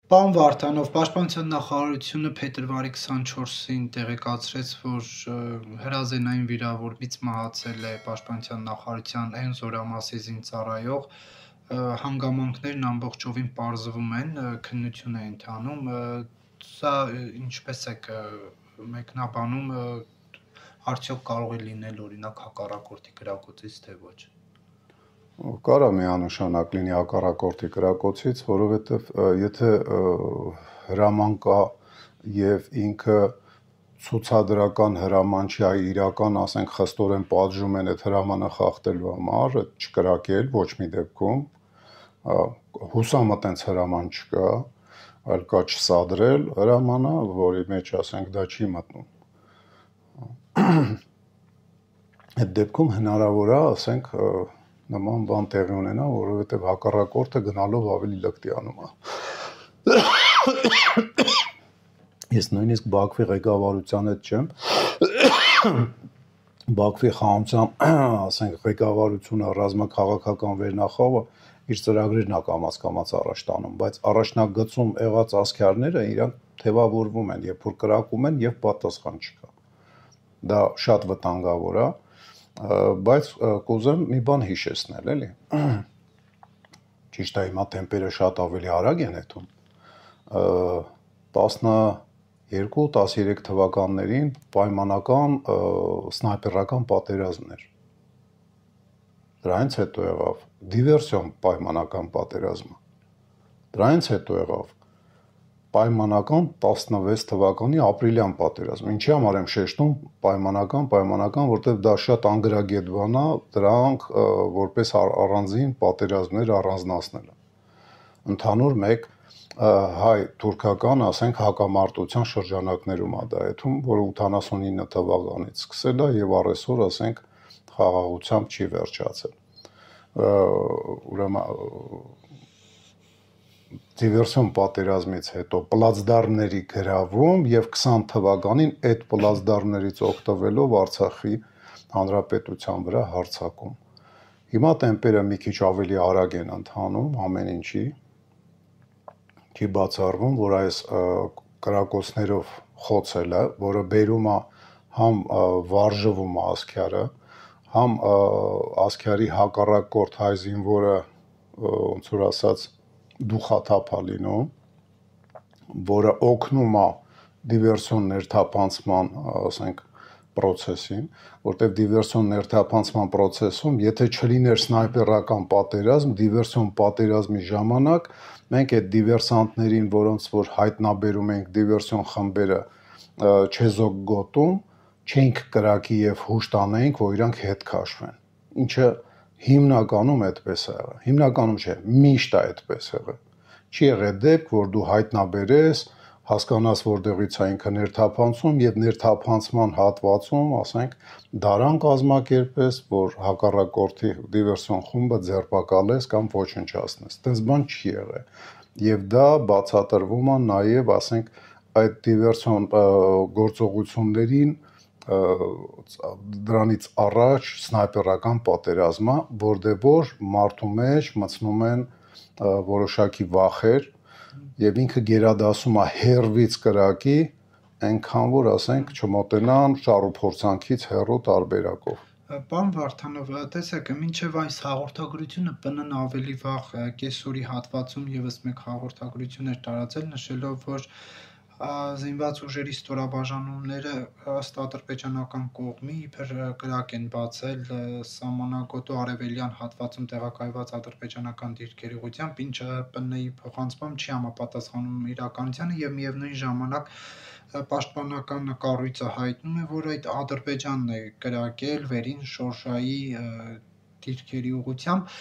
Պարոն Վարդանով, Պաշտպանության նախարարությունը փետրվարի 24-ին տեղեկացրեց, որ հրազենային վիրավորմից մահացել է Պաշտպանության նախարարության այն զորամասի զինծառայող, հանգամանքներն ամբողջովին պարզվում են, քննություն է ընթանում, սա ինչպես եք մեկնաբանում, արդյոք կարող է լինել օրինակ հակառակորդի կրակոցից, թե ոչ։ Կարա միանշանակ լինի հակառակորդի կրակոցից, որովհետև եթե հրաման կա եւ ինքը ցուցադրական հրաման չի, այ իրական, ասենք, խստորեն պատժում են այդ հրամանը խախտելու համար, չկրակել ոչ մի դեպքում, հուսամտ այնց հրաման չկա, այլ կա չսադրել հրամանը, որի մեջ, ասենք, դա չի մտնում։ Այդ դեպքում հնարավոր է, ասենք, նման բան տեղի ունենա, որովհետև հակառակորդը գնալով ավելի լկտիանում է։ Ես նույնիսկ Բաքվի ղեկավարության հետ չեմ, Բաքվի խաղաղության, ասենք, ղեկավարությունը, ռազմաքաղաքական վերնախավը իր ծրագրերն է կամաց առաջ տանում, բայց առաջնագծում եղած ասքյարները իրանք թևավորվում են, երբ որ կրակում են եւ պատասխան չկա։ Դա շատ վտանգավոր է, բայց կուզեմ մի բան հիշեցնել, էլի։ Ճիշտ է, հիմա տեմպերը շատ ավելի արագ են էթում։ 12-13 թվականներին պայմանական սնայպերական պատերազմն էր։ Դրանից հետո եղավ դիվերսիոն պայմանական պատերազմը։ Դրանից հետո եղավ պայմանական 16 թվականի ապրիլյան պատերազմ։ Ինչի համար եմ շեշտում պայմանական, որտեղ դա շատ անգրագետ բան է, դրանք որպես առանձին պատերազմներ առանձնացնելը։ Ընդհանուր մեկ հայ-թուրքական, ասենք, հակամարտության շրջանակներում է դա էթում, որը 89 թվականից սկսել է եւ առեսօր, ասենք, խաղաղությամբ չի վերջացել։ Ուրեմն դիվերսիոն պատերազմից հետո պլացդարմների գրավում եւ 20 թվականին այդ պլացդարմներից օգտվելով Արցախի հանրապետության վրա հարձակում։ Հիմա տեմպերը մի քիչ ավելի արագ են ընթանում ամեն ինչի։ Չի բացառվում, որ այս կրակոցներով խոցելը, որը բերում է համ վարժվում է ասքյարը, համ ասքյարի հակառակորդ հայ զինվորը, ոնց որ ասած, դուխաթափ է լինում, որը օգնում է դիվերսիոն ներթափանցման, ասենք, process-ին, որտեղ դիվերսիոն ներթափանցման process-ում, եթե չլիներ սնայպերական պատերազմ, դիվերսիոն պատերազմի ժամանակ մենք այդ դիվերսանտներին, որոնց որ հայտնաբերում ենք դիվերսիոն խմբերը չեզոք գոտում, չենք կրակի եւ հուշ տանենք, որ իրանք հետ քաշվեն։ Ինչը հիմնականում այդպես է եղել։ Հիմնականում չէ, միշտ է այդպես եղել։ Չի եղել դեպք, որ դու հայտնաբերես, հասկանաս որտեղից է ինքը ներթափանցում եւ ներթափանցման հատվածում, ասենք, դարան կազմակերպես, որ հակառակորդի դիվերսիոն խումբը ձերբակալես կամ ոչնչացնես։ Այդպես բան չի եղել։ Եվ դա բացատրվում է նաեւ, ասենք, այդ դիվերսիոն գործողություններին դրանից առաջ սնայպերական պատերազմը, որտեղ մարդու մեջ մտցնում են որոշակի վախեր եւ ինքը գերադասում է հերվից կրակի, այնքան որ, ասենք, չմոտենան շառ ու փորձանքից հեռու տարբերակով։ Պարոն Վարդանով, տեսեք, մինչև այս հաղորդագրությունը ՊՆ-ն ավելի վաղ կեսօրի հատվածում եւս մեկ հաղորդագրություն էր տարածել, նշելով, որ զինված ուժերի ստորաբաժանումները ըստ ադրբեջանական կողմի իբր կրակ են բացել սահմանագոտու արևելյան հատվածում տեղակայված ադրբեջանական դիրքերի ուղղությամբ, ինչը ՊՆ-ի փոխանցմամբ չի համապատասխանում իրականությանը եւ միևնույն ժամանակ պաշտպանական կառույցը հայտնում է, որ այդ Ադրբեջանն է կրակել վերին Շորշայի դիրքերի ուղղությամբ։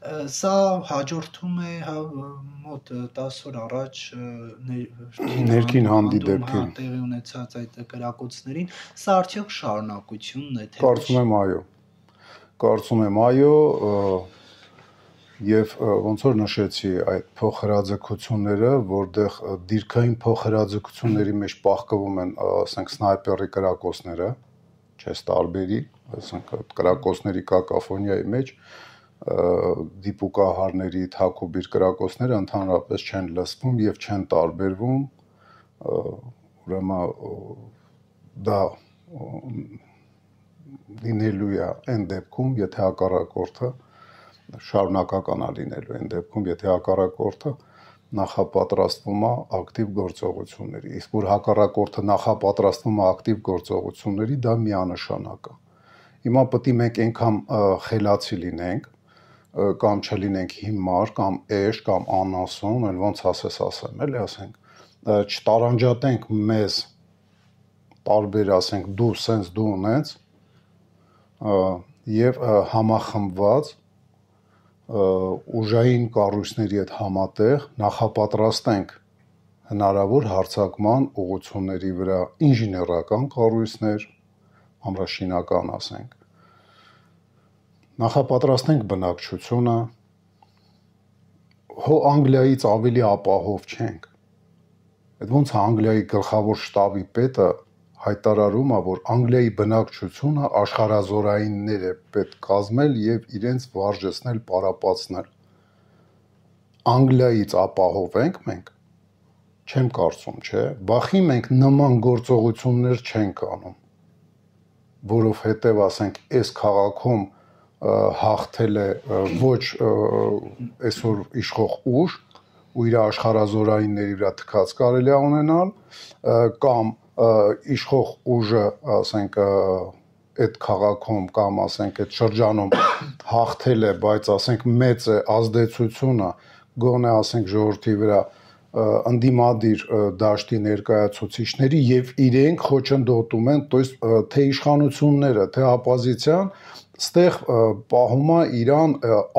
Սա հաջորդում է մոտ 10 օր առաջ ներքին հանդիպել տեղի ունեցած այդ կրակոցներին, սա արդյոք շարունակությունն է, թե Կարծում եմ այո, եւ ոնց որ նշեցի այդ փոխհրաձգությունները, որտեղ դիրքային փոխհրաձգությունների մեջ պահկվում են, ասենք, սնայպերի կրակոցները, չես տարբերի, ասենք, կրակոցների կակաֆոնիայի մեջ դիպուկահարների թաքուբիր կրակոցները ընդհանրապես չեն լսվում եւ չեն տարբերվում, ուրեմն դա լինելու է այն դեպքում, եթե հակառակորդը շարունակական է լինելու այն դեպքում, եթե հակառակորդը նախապատրաստվում է ակտիվ գործողությունների, իսկ որ հակառակորդը նախապատրաստվում է ակտիվ գործողությունների, դա միանշանակ է։ Հիմա պետք է մենք այնքան խելացի լինենք, կամ չլինենք հիմար, կամ էշ, կամ անասուն, այլ ոնց ասեմ, էլի ասենք, չտարանջատենք մեզ տարբեր, ասենք, դու սենց, դու ունենց, եւ համախմբված ուժային կառույցների հետ համատեղ նախապատրաստենք հնարավոր հարձակման ուղղությունների վրա ինժեներական կառույցներ, ամրաշինական ասենք, նախապատրաստենք բնակչությունը, հո Անգլիայից ավելի ապահով չենք։ Այդ ոնց է Անգլիայի գլխավոր շտաբի պետը հայտարարում է, որ Անգլիայի բնակչությունը աշխարհազորայիններ է պետք կազմել եւ իրենց վարժեցնել, պարապացնել։ Անգլիայից ապահով ենք մենք։ Չեմ կարծում, չէ։ Բախի մենք նման գործողություններ չենք անում, որովհետեւ ասենք այս քաղաքում հաղթել է ոչ այսօր իշխող ուժ ու իր աշխարհազորայինների վրա թքած կարելի է ունենալ, կամ իշխող ուժը, ասենք, այդ քաղաքում կամ ասենք այդ շրջանում հաղթել է, բայց ասենք մեծ է ազդեցությունը գոնե ասենք ժողովրդի վրա ընդդիմադիր դաշտի ներկայացուցիչների եւ իրենք խոչընդոտում են, то есть թե իշխանությունները, թե оппозиցիան ստեղ պահում է իրան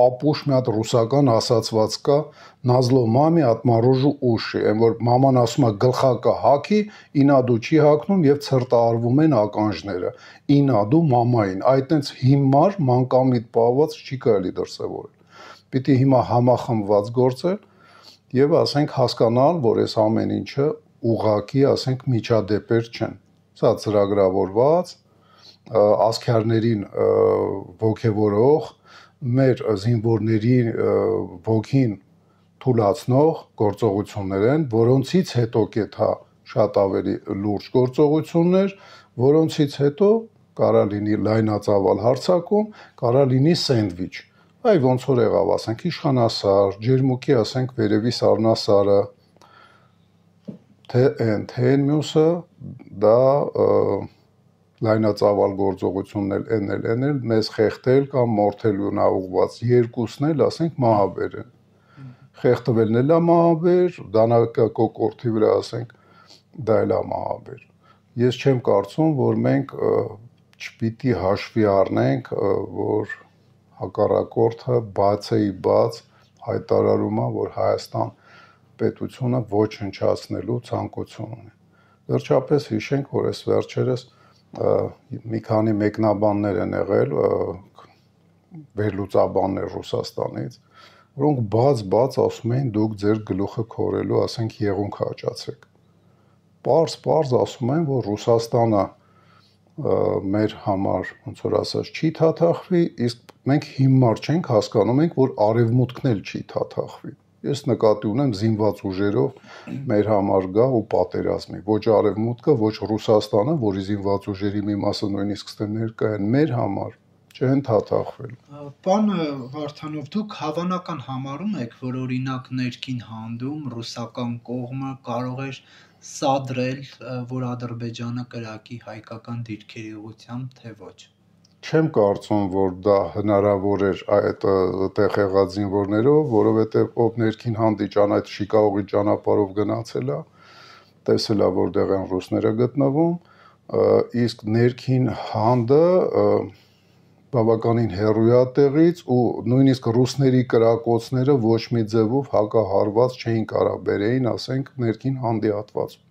ապուշ մի հատ ռուսական ասացված կա Նազլո մամի ատմարոժու ուշի, այն որ մաման ասում է գլխակը հագի, ինադու չի հագնում եւ ցրտարվում են ականջները, ինադու մամային, այդ այնց հիմար մանկամիտ պահված չի կարելի դրսևորել։ Պիտի հիմա համախմբված գործել եւ ասենք հասկանալ, որ այս ամեն ինչը ուղղակի ասենք միջադեպեր չեն։ Սա ծրագրավորված ասքյարներին ոգևորող, մեր զինվորների ոգին թուլացնող գործողություններ են, որոնցից հետո կեթա շատ ավելի լուրջ գործողություններ, որոնցից հետո կարա լինի լայնածավալ հարձակում, կարա լինի սենդվիչ։ Այ ոնց որ եղավ, ասենք իշխանասար, ջերմուկի ասենք վերևի սառնասարը, թե այն մյուսը դա լայնածավալ գործողություններ էնել, մեզ խեղդել կամ մորթելու նա ուղված երկուսն էլ ասենք մահաբեր են։ Խեղդվելն էլ է մահաբեր, դանակակոկորդի վրա ասենք դա էլ է մահաբեր։ Ես չեմ կարծում, որ մենք չպիտի հաշվի առնենք, որ հակառակորդը բացեի բաց հայտարարում է, որ Հայաստան պետությունը ոչնչացնելու ցանկություն ունի։ Վերջապես հիշենք, որ այս վերջերս մի քանի մեկնաբաններ են եղել, վերլուծաբաններ Ռուսաստանից, որոնք բաց ասում էին դուք ձեր գլուխը քորելու, ասենք, եղունգ հաճացեք։ Պարզ ասում են, որ Ռուսաստանը մեր համար, ոնց որ ասած, չի թաթախվի, իսկ մենք հիմար չենք հասկանում ենք, որ արևմուտքն էլ չի թաթախվի։ Ես նկատի ունեմ զինված ուժերով մեր համար գա ու պատերազմի, ոչ արևմուտքը, ոչ Ռուսաստանը, որի զինված ուժերի մի մասը նույնիսկ ստե ներկա են, մեր համար չեն թաթախվել։ Պարոն Վարդանով, դուք հավանական համարում եք, որ օրինակ ներքին հանդում ռուսական կողմը կարող էր սադրել, որ Ադրբեջանը կրակի հայկական դիրքերի ուղղությամբ, թե ոչ։ Չեմ կարծում, որ դա հնարավոր էր այդ տեղ եղած զինվորներով, որովհետև ով ներքին հանդի այդ Շիկաղողի ճանապարհով գնացել է, տեսել է, որտեղ են ռուսները գտնվում, իսկ ներքին հանդը բավականին հեռու է տեղից ու նույնիսկ ռուսների կրակոցները ոչ մի ձևով հակահարված չէին կարող բերեին, ասենք, ներքին հանդի հատվածում։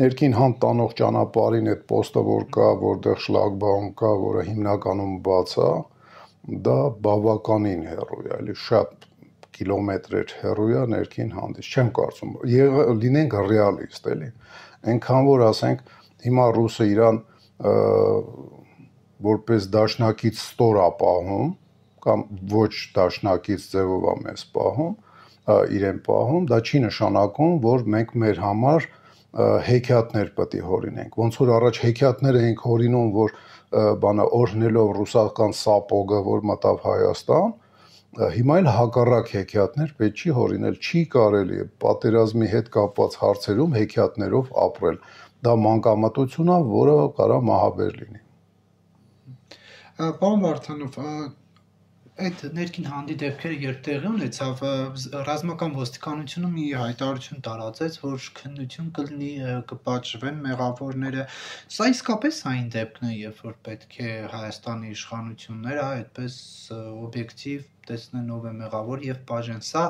Ներքին հանդ տանող ճանապարհին այդ պոստը որ կա, որտեղ շլագբաում կա, որը հիմնականում բաց է, դա բավականին հեռու է, էլի շատ կիլոմետրեր հեռու է ներքին հանդից։ Չեմ կարծում, լինենք ռեալիստ, էլի։ Այնքան որ ասենք, հիմա ռուսը իրան որպես դաշնակից ստոր ապահում, կամ ոչ դաշնակից ձևով է մեզ պահում, իրեն պահում, դա չի նշանակում, որ մենք մեր համար հեքիաթներ պետք է հորինենք։ Ոնց որ առաջ հեքիաթներ էինք հորինում, որ բանը օրհնելով ռուսական սապոգը, որ մտավ Հայաստան, հիմա էլ հակառակ հեքիաթներ պետք չի հորինել, չի կարելի պատերազմի հետ կապված հարցերում հեքիաթներով ապրել։ Դա մանկամտություն է, որը կարա մահաբեր լինի։ Պարոն Վարդանով, այդ ներքին հանդի դեպքերը երբ տեղի ունեցավ, ռազմական ոստիկանությունը մի հայտարարություն տարածեց, որ քննություն կլինի, կպատժվեն մեղավորները։ Սա իսկապես այն դեպքն է, երբ որ պետք է Հայաստանի իշխանությունները այդպես օբյեկտիվ տեսնեն ով է մեղավոր եւ բաժեն։ Սա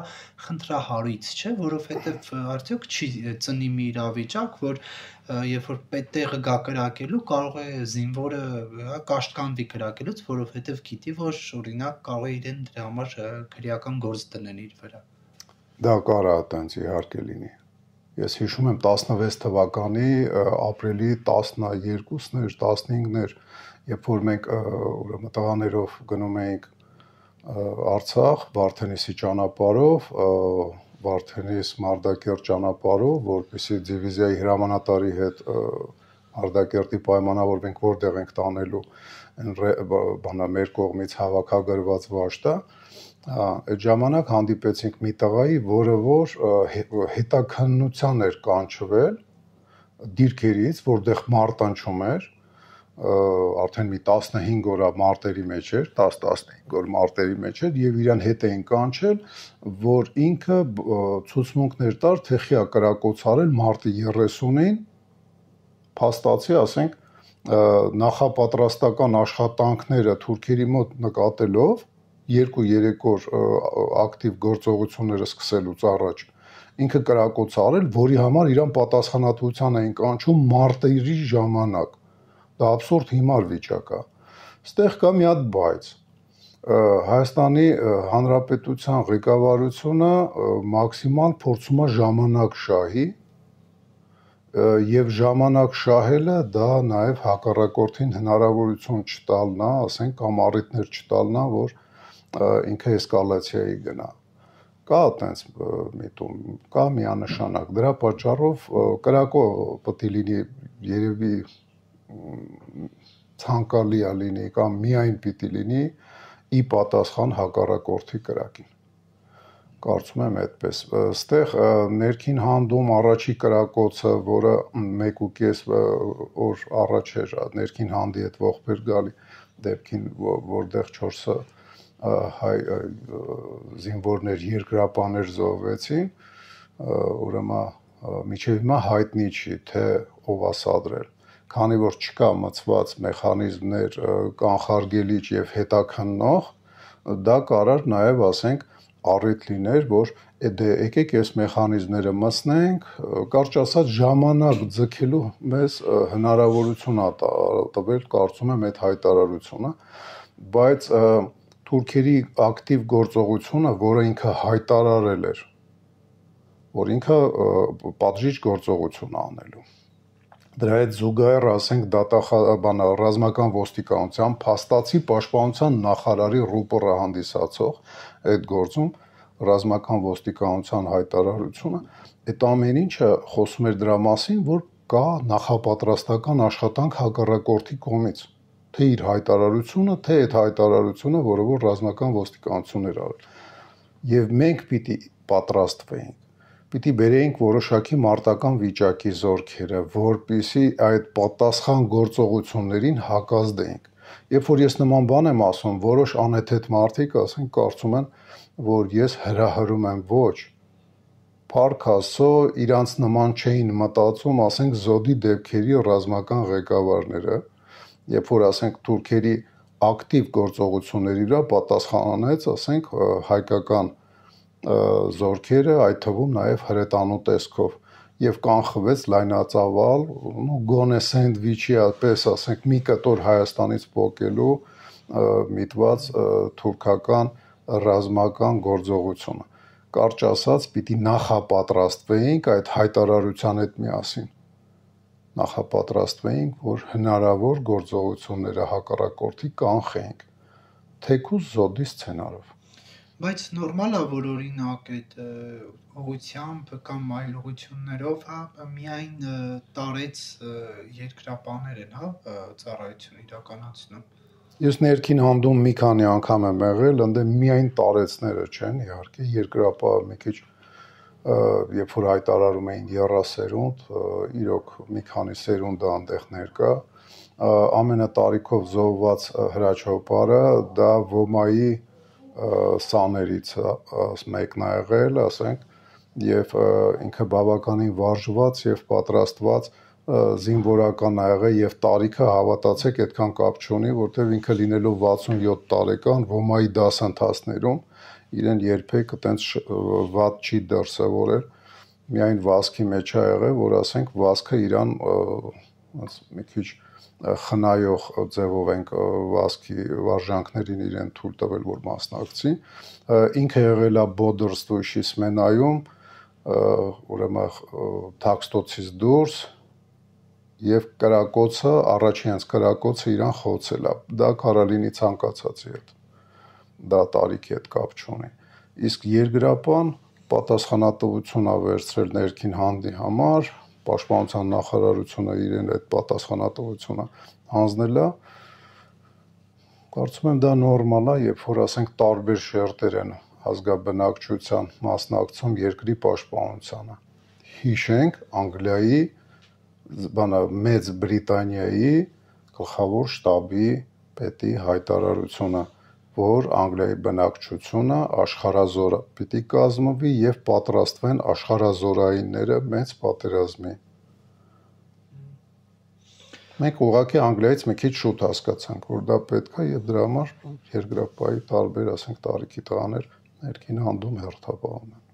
խնդրահարույց չէ, որովհետեւ արդյոք չի ծնի մի իրավիճակ, որ երբ որ տեղը գա կրակելու, կարող է զինվորը կաշտկանվի կրակելուց, որովհետեւ գիտի, որ օրինակ կարող է իրեն դրա համար քրեական գործ դնեն իր վրա։ Դա կարա այտենց իհարկե լինի։ Ես հիշում եմ 16 թվականի ապրիլի 12-ներ, 15-ներ, երբ որ մենք ուրեմն տղաներով գնում էինք Արցախ, Վարդենիսի ճանապարհով, Վարդենիս Մարտակերտ ճանապարհով, որպեսզի դիվիզիայի հրամանատարի հետ Մարտակերտի պայմանավորվենք, որտեղ ենք տանելու բանա մեր կողմից հավաքագրված վաշտը, այդ ժամանակ հանդիպեցինք մի տղայի, որը որ հետաքննության էր կանչվել դիրքերից, որտեղ մարտնչում էր, արդեն մի 15 օր մարտերի մեջ էր, 10-15 օր մարտերի մեջ էր եւ իրան հետ էին կանչել, որ ինքը ցուցմունքներ տար, թե խիա կրակոցարել մարտի 30-ին, փաստացի, ասենք, նախապատրաստական աշխատանքները թուրքերի մոտ նկատելով 2-3 օր ակտիվ գործողությունները սկսելուց առաջ ինքը կրակոցարել, որի համար իրան պատասխանատվության էին կանչում մարտերի ժամանակ։ Դա абսուրդ հիմար վիճակ է։ Ստեղ կա մի հատ բայց Հայաստանի Հանրապետության ղեկավարությունը մաքսիմալ փորձում է ժամանակ շահի եւ ժամանակ շահելը դա նաեւ հակառակորդին հնարավորություն չտալն է, ասենք կամ առիթներ չտալն է, որ ինքը էսկալացիայի գնա։ Կա այտենց միտում, կա միանշանակ։ Դրա պատճառով կրակո պետք է լինի երևի ցանկալի է լինի կամ միայն պիտի լինի ի պատասխան հակառակորդի կրակին։ Կարծում եմ այդպես։ Այստեղ ներքին հանդում առաջի կրակոցը, որը 1.5 օր առաջ էր ներքին հանդի հետ ողբեր գալի դեպքին, որտեղ 4 հայ զինվորներ երկրապաներ զոհվեցին, ուրեմն մինչև հիմա հայտնի չի, թե ով է սադրել։ Քանի որ չկա մցված մեխանիզմներ կանխարգելիչ եւ հետաքննող, դա կարար նաեւ, ասենք, առիթ լիներ, որ եկեք այս մեխանիզմները մտցնենք, կարճ ասած ժամանակ ձգելու մեզ հնարավորություն է տվել, կարծում եմ այդ հայտարարությունը, բայց թուրքերի ակտիվ գործողությունը, որը ինքը հայտարարել էր, որ ինքը պատժիչ գործողություն է անելու։ Դրա հետ զուգահեռ, ասենք, ռազմական ոստիկանության փաստացի պաշտպանության նախարարի ռուպորը հանդիսացող այդ գործում ռազմական ոստիկանության հայտարարությունը, այդ ամեն ինչը խոսում էր դրա մասին, որ կա նախապատրաստական աշխատանք հակառակորդի կողմից, թե իր հայտարարությունը, թե այդ հայտարարությունը, որը որ ռազմական ոստիկանությունն էր արել։ Եվ մենք պիտի պատրաստվեինք, պիտի բերեինք որոշակի մարտական վիճակի զորքերը, որպեսզի այդ պատասխան գործողություններին հակազդեինք։ Երբ որ ես նման բան եմ ասում, որոշ անհեթեթ մարդիկ, ասենք, կարծում են, որ ես հրահրում եմ, ոչ։ Փառք Աստծո, իրանց նման չէին մտածում, ասենք, զոդի դեպքերի ռազմական ղեկավարները, երբ որ, ասենք, թուրքերի ակտիվ գործողությունների վրա պատասխանեց, ասենք, հայկական զորքերը, այդ թվում նաև հրետանու տեսքով, եւ կանխվեց լայնածավալ, գոնե սենդվիչի պես, ասենք, մի կտոր Հայաստանից պոկելու միտված թուրքական ռազմական գործողությունը։ Կարճ ասած, պիտի նախապատրաստվեինք այդ հայտարարության հետ միասին։ Նախապատրաստվեինք, որ հնարավոր գործողությունները հակառակորդի կանխեինք։ թեկուզ զոդի սցենարով։ Բայց նորմալ է, որ օրինակ այդ ուղությամբ կամ այլ ուղություններով, միայն տարեց երկրապահներ են, ծառայություն իրականացնում։ Ես ներքին հանդում մի քանի անգամ եմ եղել, ընդ միայն տարեցները չեն, իհարկե, երկրապահը մի քիչ երբ որ հայտարարում էին 30 սերունդ, իրոք մի քանի սերունդ այնտեղ ներկա, ամենը տարիքով զոհված հրաչոպարը դա ոմայի սաներից մեկն է եղել, ասենք, եւ ինքը բավականին վարժված եւ պատրաստված զինվորական ա եղել եւ տարիքը հավատացեք այդքան կապ չունի, որտեւ ինքը լինելով 67 տարեկան ոմայի դասընթացներում իրեն երբեք այտենց վատ չի դրսևորել, միայն վազքի մեջ ա եղել, որ ասենք վազքը իրան մի քիչ խնայող ձևով ենք վազքի վարժանքներին իրեն թույլ տվել, որ մասնակցի, ինքը եղել է Բոդրստույշի սմենայում, ուրեմն թաքստոցից դուրս եւ կրակոցը, առաջին հենց կրակոցը իրան խոցել է, դա կարալինի ցանկացածի հետ, դա տարիքի հետ կապ չունի, իսկ երկրապահն պատասխանատվություն ա վերցրել ներքին հանդի համար, պաշտպանության նախարարությունը իրեն այդ պատասխանատվությունը հանձնել է, կարծում եմ դա նորմալ է, երբ որ ասենք տարբեր շերտեր են ազգաբնակչության մասնակցում երկրի պաշտպանությանը, հիշենք Անգլիայի, Մեծ Բրիտանիայի գլխավոր շտաբի պետի հայտարարությունը, որ Անգլիայի բնակչությունը աշխարհազոր պիտի կազմվի եւ պատրաստվեն աշխարհազորայինները մեծ պատերազմի։ Մենք ուղղակի Անգլիայից մի քիչ շուտ հասկացանք, որ դա պետք է եւ դրա համար երկրապահի տարբեր, ասենք, տարիքի տղաներ ներքին հանդում հերթապահում են։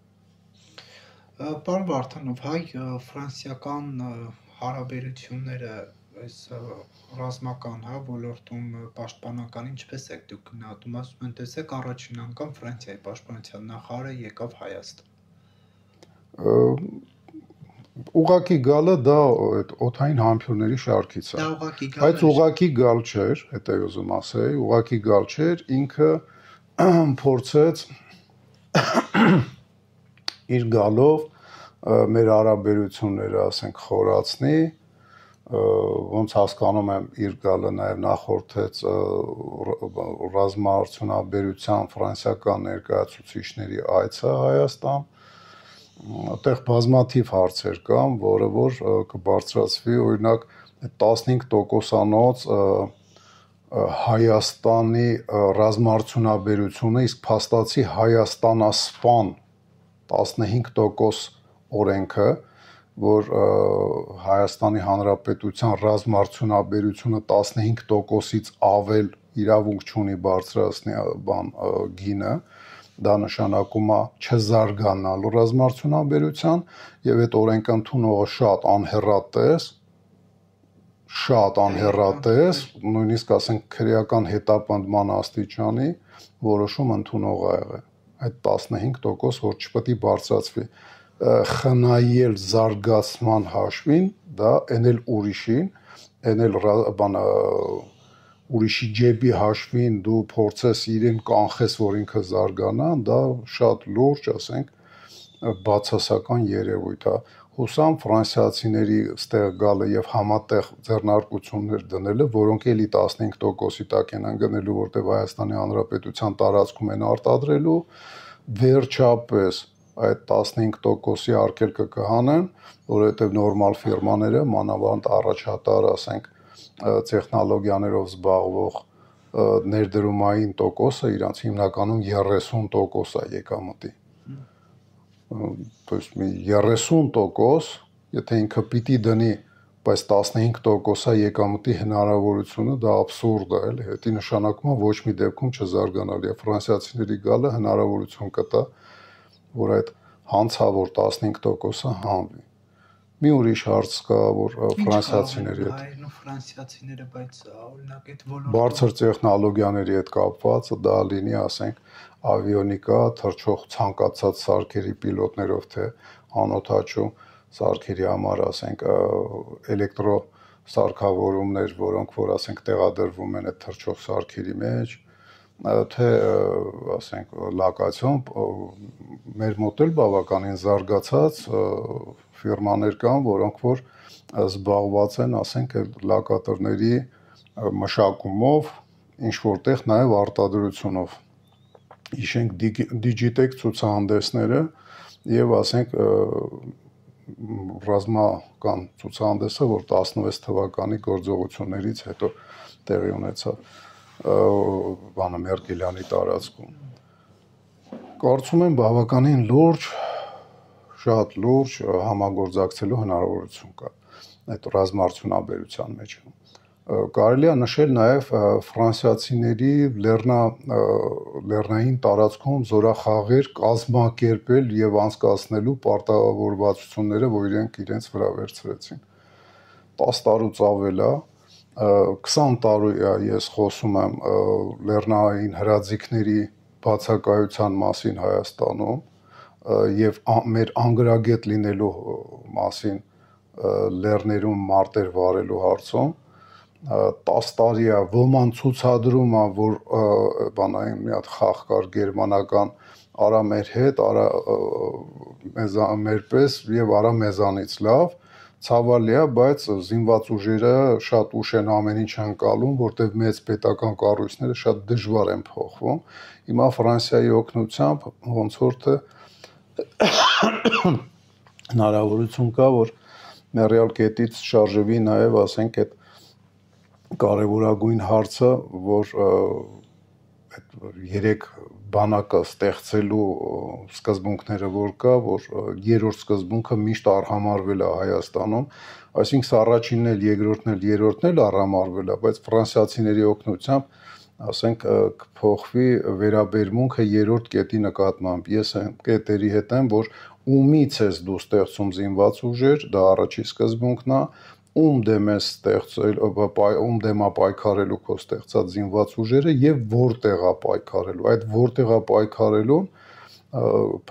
Պարոն Վարդանով, հայ-ֆրանսիական հարաբերությունները այս ռազմական ոլորտում պաշտպանական ինչպես եք դուք գնահատում, ասում են, տեսեք, առաջին անգամ Ֆրանսիայի պաշտպանության նախարարը եկավ Հայաստան։ Ուղղակի գալը դա այդ օդային համբույրների շարքից է։ Բայց ուղղակի գալ չէր, հետո ուզում ասեի, ուղղակի գալ չէր, ինքը փորձեց իր գալով մեր հարաբերությունները, ասենք, խորացնի, ոնց հասկանում եմ, իր գալը նաև նախորդեց ռազմաարդյունաբերության ֆրանսիական ներկայացուցիչների այցը Հայաստան, այդտեղ բազմաթիվ հարցեր կան, որը որ կբարձրացվի, օրինակ 15%-անոց Հայաստանի ռազմաարդյունաբերությունը, իսկ փաստացի Հայաստանասպան 15% օրենքը, որ Հայաստանի Հանրապետության ռազմաարդյունաբերությունը 15%-ից ավել իրավունք չունի բարձրացնի գինը, դա նշանակում է չզարգանալ ռազմաարդյունաբերության եւ այդ օրենքը ընդունողը շատ անհեռատես, նույնիսկ ասենք քրեական հետապնդման աստիճանի որոշում ընդունող ա եղել։ Այդ 15%, որ չպետք է բարձրացվի խնայել զարգացման հաշվին, դա էնել ուրիշին, էնել ուրիշի ջեբի հաշվին դու փորձես իրեն կանխես, որ ինքը զարգանա, դա շատ լուրջ, ասենք, բացասական երևույթ է։ Հուսամ ֆրանսիացիների ստեղ գալը եւ համատեղ ձեռնարկություններ դնելը, որոնք էլի 15%-ի տակ են ընկնելու, որտեղ Հայաստանի Հանրապետության տարածքում են արտադրելու, վերջապես այդ 15%-ի արգելքը կհանեն, որովհետև նորմալ ֆիրմաները, մանավանդ առաջատար, ասենք, տեխնոլոգիաներով զբաղվող ներդրումային տոկոսը իրանց հիմնականում 30% է եկամտի։ То есть 30%, եթե ինքը պիտի դնի, բայց 15% է եկամտի հնարավորությունը, դա աբսուրդ է, էլի, դա նշանակում է ոչ մի դեպքում չզարգանալ, եւ ֆրանսիացիների գալը հնարավորություն կտա, որ այդ հանցավոր 15%-ը հանվի։ Մի ուրիշ հարց կա, որ ֆրանսիացիների հետ հայերն ու ֆրանսիացիները, բայց օրինակ այդ ոլորտը բարձր տեխնոլոգիաների հետ կապված, դա լինի, ասենք, ավիոնիկա, թռչող ցանկացած սարքերի պիլոտներով, թե անօդաչու սարքերի համար, ասենք, էլեկտրո սարքավորումներ, որոնք որ ասենք տեղադրվում են այդ թռչող սարքերի մեջ, թե ասենք լոկացիոն մեր մոտ էլ բավականին զարգացած ֆիրմաներ կան, որոնք որ զբաղված են, ասենք լոկատորների մշակումով, ինչ որտեղ նաև արտադրությունով։ Իշենք Digitec ցուցահանդեսները եւ ասենք ռազմական ցուցահանդեսը, որ 16 թվականի գործողություններից հետո տեղի ունեցավ բանը Մերկելյանի տարածքում։ Կարծում եմ բավականին լուրջ, շատ լուրջ համագործակցելու հնարավորություն կա այդ ռազմաարդյունաբերության մեջ։ Կարելի է նշել նաև ֆրանսիացիների լեռնային տարածքում զորախաղեր կազմակերպել եւ անցկացնելու պարտավորվածությունները, որ իրենց վրա վերցրեցին։ 10 տարուց ավել է, 20 տարի է ես խոսում եմ լեռնային հրաձիգների բացակայության մասին Հայաստանում եւ մեր անգրագետ լինելու մասին լեռներում մարտեր վարելու հարցում 10 տարի է ոման ցուցադրում է, որ բանային մի հատ խաղ կար գերմանական արա մեր հետ, արա մեր պես եւ արա մեզանից լավ, ցավալի է, բայց զինված ուժերը շատ ուշ են ամեն ինչ անցալում, որտեղ մեծ պետական կառույցները շատ դժվար են փոխվում։ Հիմա Ֆրանսիայի օգնությամբ ոնց որ թե հնարավորություն կա, որ մեռյալ կետից շարժվի նաեւ, ասենք այդ կարևորագույն հարցը, որ այդ 3 բանակը ստեղծելու սկզբունքները որ կա, որ երրորդ սկզբունքը միշտ արհամարվել է Հայաստանում, այսինքն առաջինն էլ, երկրորդն էլ, երրորդն էլ արհամարվել է, բայց ֆրանսիացիների օգնությամբ, ասենք, կփոխվի վերաբերմունքը երրորդ կետի նկատմամբ։ Ես այն կետերի հետ եմ, որ ումից ես դու ստեղծում զինված ուժեր, դա առաջի սկզբունքն է, ում դեմ է ստեղծել, ում դեմ է պայքարելու քո ստեղծած զինված ուժերը եւ որտեղ է պայքարելու։ Այդ որտեղ է պայքարելու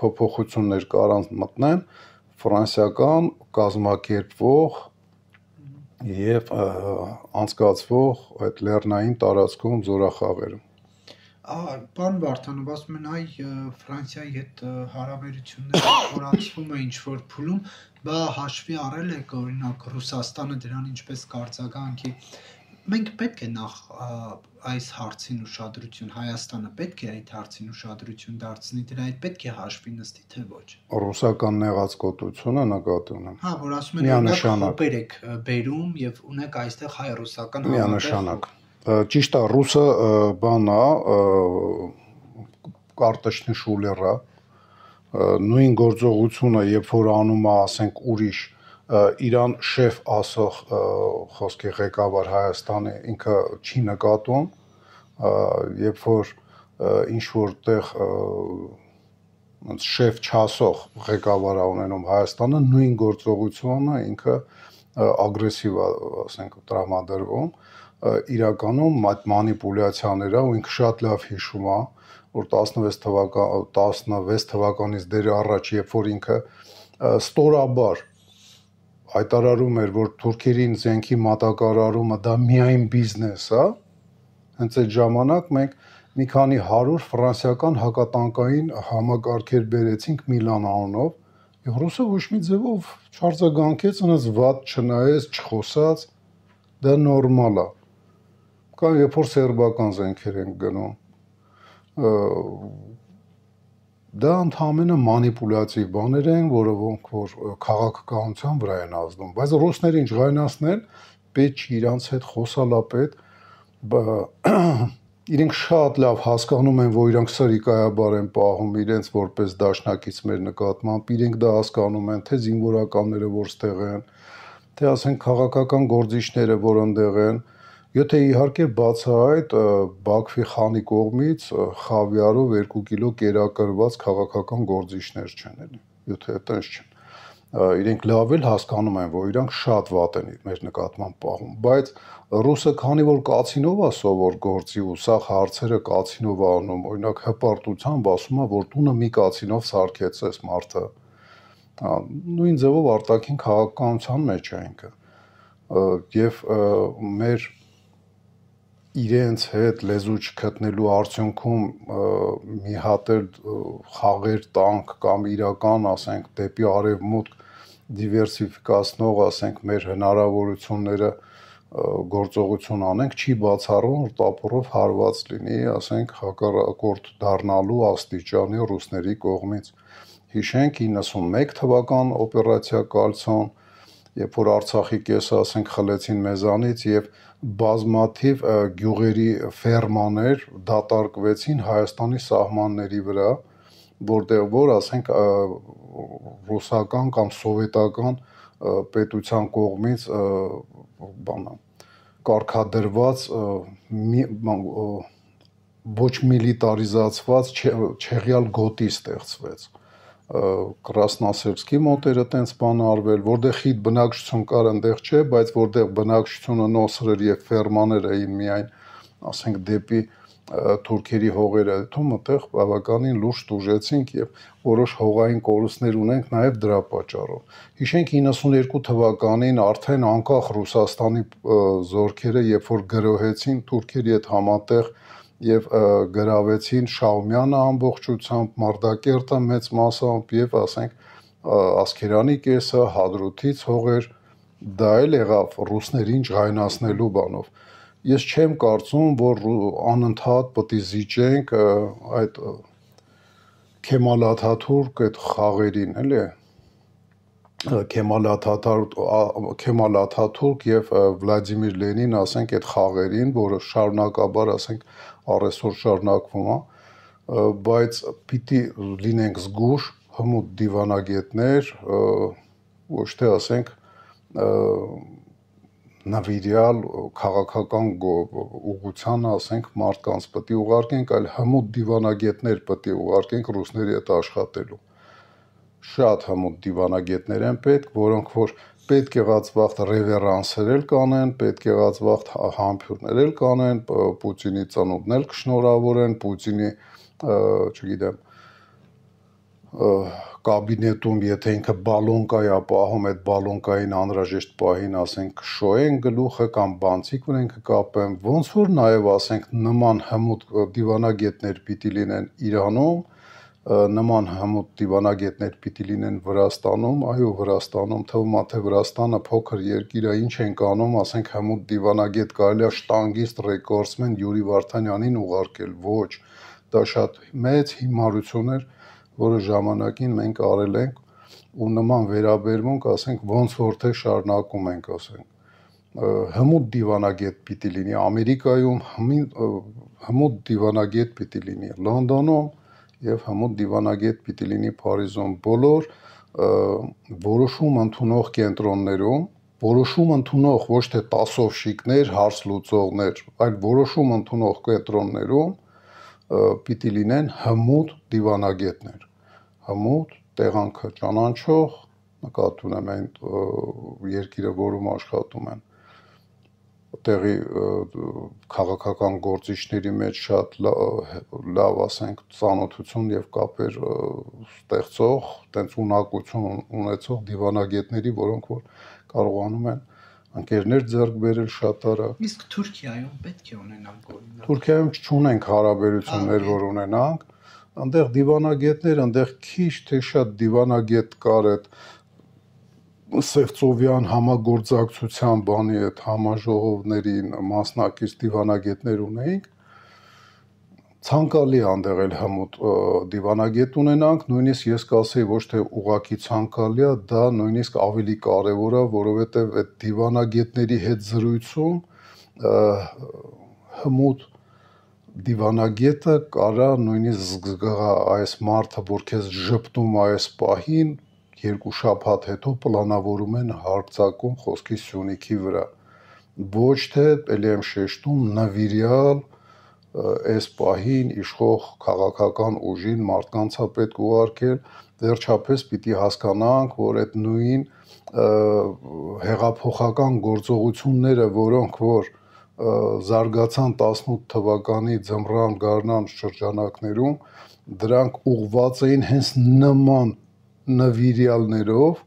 փոփոխություններ կարան մտնեն ֆրանսիական կազմակերպվող եւ անցկացվող այդ լեռնային տարածքում զորախաղերը։ Պարոն Վարդանով, ասում են այ Ֆրանսիայի հետ հարաբերությունները խորացվում է ինչ-որ փուլում, բա հաշվի առել եք օրինակ Ռուսաստանը դրան ինչպես կարձագանքի։ Մենք պետք է նախ այս հարցին ուշադրություն, Հայաստանը պետք է այդ հարցին ուշադրություն դարձնի, դրա հետ պետք է հաշվի նստի, թե ոչ։ Ռուսական նեղացկոտությունը նկատի ունեմ։ Հա, որ ասում են օրինակ խոպեր եք բերում եւ ունեք այստեղ հայ-ռուսական միանշանակ։ Ճիշտ է, ռուսը բան է, կարտեշնի շուլերա, նույն գործողությունը, երբ որ անում է, ասենք, ուրիշ Իրան շեֆ ասող խոսքի ղեկավար Հայաստանի ինքը չի նկատում, երբ որ ինչ որտեղ շեֆ չասող ղեկավար է ունենում Հայաստանը, նույն գործողությունը ինքը ագրեսիվ է, ասենք, տրամադրվում, իրականում այդ մանիպուլյացիաները ու ինքը շատ լավ հիշում է, որ 16 թվականից դեռ առաջ, երբ որ ինքը ստորաբար հայտարարում էր, որ թուրքերին զենքի մատակարարումը դա միայն բիզնես է, հենց այդ ժամանակ մենք մի քանի 100 ֆրանսիական հակատանկային համակարգեր բերեցինք Միլան անունով, եւ ռուսը ոչ մի ձևով չարձագանքեց, այնպես վատ չնայեց, չխոսած, դա նորմալ է։ Կամ երբ որ սերբական զենքեր են գնում, դա ընդհանրապես մանիպուլյատիվ բաներ են, որոնք որ քաղաքականության վրա են ազդում, բայց ռուսներին ջղայնացնել պետք չի, իրանց հետ խոսալա պետք, իրենք շատ լավ հասկանում են, որ իրանք սրիկայաբար են պահում իրենց որպես դաշնակից մեր նկատմամբ, իրենք դա հասկանում են, թե զինվորականները որ ստեղ են, թե ասենք քաղաքական գործիչները որ ընդեղ են, եթե իհարկե բացահայտ Բաքվի խանի կողմից խավիարով 2 կիլո կերակրված քաղաքական գործիչներ չեն էլի, եթե այդպես չեն։ Իրենք լավ էլ հասկանում են, որ իրանք շատ վատ են մեր նկատմամբ պահում, բայց ռուսը քանի որ կացինով է սովոր գործի ու սա հարցերը կացինով է անում, օրինակ հպարտությամբ ասում է, որ տունը մի կացինով սարքեցես մարդը, նույն ձևով արտաքին քաղաքականության մեջ է ինքը, եւ մեր իրենց հետ լեզու չգտնելու արդյունքում մի հատ էլ խաղեր տանք կամ իրական, ասենք, դեպի արևմուտք դիվերսիֆիկացնող, ասենք, մեր հնարավորությունները գործողություն անենք, չի բացառում, որ տապորով հարված լինի, ասենք, հակառակորդ դառնալու աստիճանի ռուսների կողմից։ Հիշենք 91 թվական օպերացիա Կալցոն, երբ որ Արցախի կեսը, ասենք, խլեցին մեզանից եւ բազմաթիվ գյուղերի ֆերմաներ դատարկվեցին Հայաստանի սահմանների վրա, որտեղ որ, ասենք, ռուսական կամ սովետական պետության կողմից կարգադրված ոչ միլիտարիզացված չեղյալ գոտի ստեղծվեց։ Կրասնասերբսկի մոտ էր այտենց բան արվել, որտեղ խիտ բնակչություն կար, այնտեղ չէ, բայց որտեղ բնակչությունը նոսր էր եւ ֆերմաներ էին միայն, ասենք, դեպի թուրքերի հողերը դնում, այդտեղ բավականին լուրջ տուժեցինք եւ որոշ հողային կորուստներ ունենք նաեւ դրա պատճառով։ Հիշենք 92 թվականին արդեն անկախ Ռուսաստանի զորքերը, երբ որ գրոհեցին թուրքերի հետ համատեղ եւ գրավեցին Շաումյանը ամբողջությամբ, Մարտակերտը մեծ մասամբ եւ, ասենք, Ասկերանի կեսը, Հադրութից հողեր, դա էլ եղավ ռուսներին ջղայնացնելու բանով։ Ես չեմ կարծում, որ անընդհատ պետք է զիջենք այդ Քեմալ Աթաթուրք այդ խաղերին, էլի Քեմալ Աթաթուրք եւ Վլադիմիր Լենին, ասենք, այդ խաղերին, որը շարունակաբար, ասենք, առեսօր շարունակվում է, բայց պիտի լինենք զգուշ, հմուտ դիվանագետներ, ոչ թե, ասենք, նվիրյալ քաղաքական ուղղությանը, ասենք, մարդկանց պետք է ուղարկենք, այլ հմուտ դիվանագետներ պետք է ուղարկենք ռուսների հետ աշխատելու։ Շատ հմուտ դիվանագետներ են պետք, որոնք որ պետք եղած վաղտ ռևերանսեր էլ կանեն, պետք եղած վաղտ համբյուրներ էլ կանեն, Պուտինի ծնունդն էլ կշնորհավորեն, Պուտինի, չգիտեմ, կաբինետում, եթե ինքը բալոնկա է պահում, այդ բալոնկային անհրաժեշտ պահին, ասենք, կշոյեն գլուխը կամ բանցիկ վրեն կկապեն, ոնց որ նաև, ասենք, նման հմուտ դիվանագետներ պիտի լինեն Իրանում, նման հմուտ դիվանագետներ պիտի լինեն Վրաստանում, այո, Վրաստանում, թվում է, թե Վրաստանը փոքր երկիր է, ինչ են կանում, ասենք, հմուտ դիվանագետ կարելի է շտանգիստ ռեկորդսմեն Յուրի Վարդանյանին ուղարկել, ոչ, դա շատ մեծ հիմարություն էր, որը ժամանակին մենք արել ենք ու նման վերաբերմունք, ասենք, ոնց որ թե շարունակում ենք, ասենք, հմուտ դիվանագետ պիտի լինի Ամերիկայում, հմուտ դիվանագետ պիտի լինի Լոնդոնում եւ հմուտ դիվանագետ պիտի լինի Փարիզում, բոլոր որոշում ընդունող կենտրոններում, որոշում ընդունող ոչ թե տասովշիկներ, հարց լուծողներ, այլ որոշում ընդունող կենտրոններում պիտի լինեն հմուտ դիվանագետներ, հմուտ, տեղանքը ճանաչող, նկատի ունեմ այն երկիրը, որում աշխատում են, տեղի քաղաքական գործիչների մեջ շատ լավ, ասենք, ծանոթություն եւ կապեր ստեղծող, տենց ունակություն ունեցող դիվանագետների, որոնք որ կարողանում են ընկերներ ձեռք բերել շատ արագ։ Իսկ Թուրքիայում պետք է ունենանք օրինակ։ Թուրքիայում չունենք հարաբերություններ, որ ունենանք, այնտեղ դիվանագետներ, այնտեղ քիչ թե շատ դիվանագետ կար այդ Սևծովյան համագործակցության բանի այդ համաժողովներին մասնակից դիվանագետներ ունեինք, ցանկալի այնտեղ էլ հմուտ դիվանագետ ունենանք, նույնիսկ ես կասեի ոչ թե ուղղակի ցանկալի է, դա նույնիսկ ավելի կարևոր է, որովհետև այդ դիվանագետների հետ զրույցում հմուտ դիվանագետը կարա նույնիսկ զգա այս մարդը, որ քեզ ժպտում այս պահին, երկու շաբաթ հետո պլանավորում են հարձակում խոսքի Սյունիքի վրա, ոչ թե, ելի եմ շեշտում, նվիրյալ այս պահին իշխող քաղաքական ուժին մարդկանց է պետք ուղարկել, վերջապես պիտի հասկանանք, որ այդ նույն հեղափոխական գործողությունները, որոնք որ զարգացան 18 թվականի ձմռան գարնան շրջանակներում, դրանք ուղղված էին հենց նման նվիրյալներով,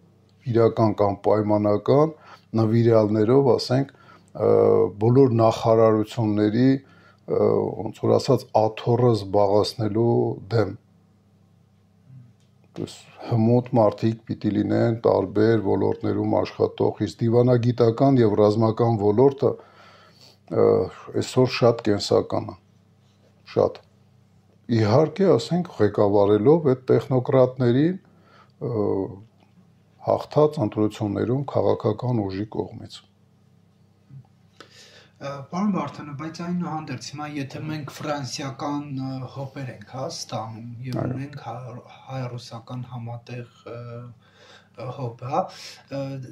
իրական կամ պայմանական նվիրյալներով, ասենք, բոլոր նախարարությունների ոնց որ ասած աթոռը զբաղեցնելու դեմ։ Հմուտ մարդիկ պիտի լինեն տարբեր ոլորտներում աշխատող, իսկ դիվանագիտական եւ ռազմական ոլորտը այսօր շատ կենսական է, շատ։ Իհարկե, ասենք, ղեկավարելով այդ տեխնոկրատներին հաղթած ընտրություններում քաղաքական ուժի կողմից։ Պարոն Վարդանов, բայց այնուհանդերձ հիմա եթե մենք ֆրանսիական հոպեր ենք ստանում եւ ունենք հայ-ռուսական համատեղ հոբ,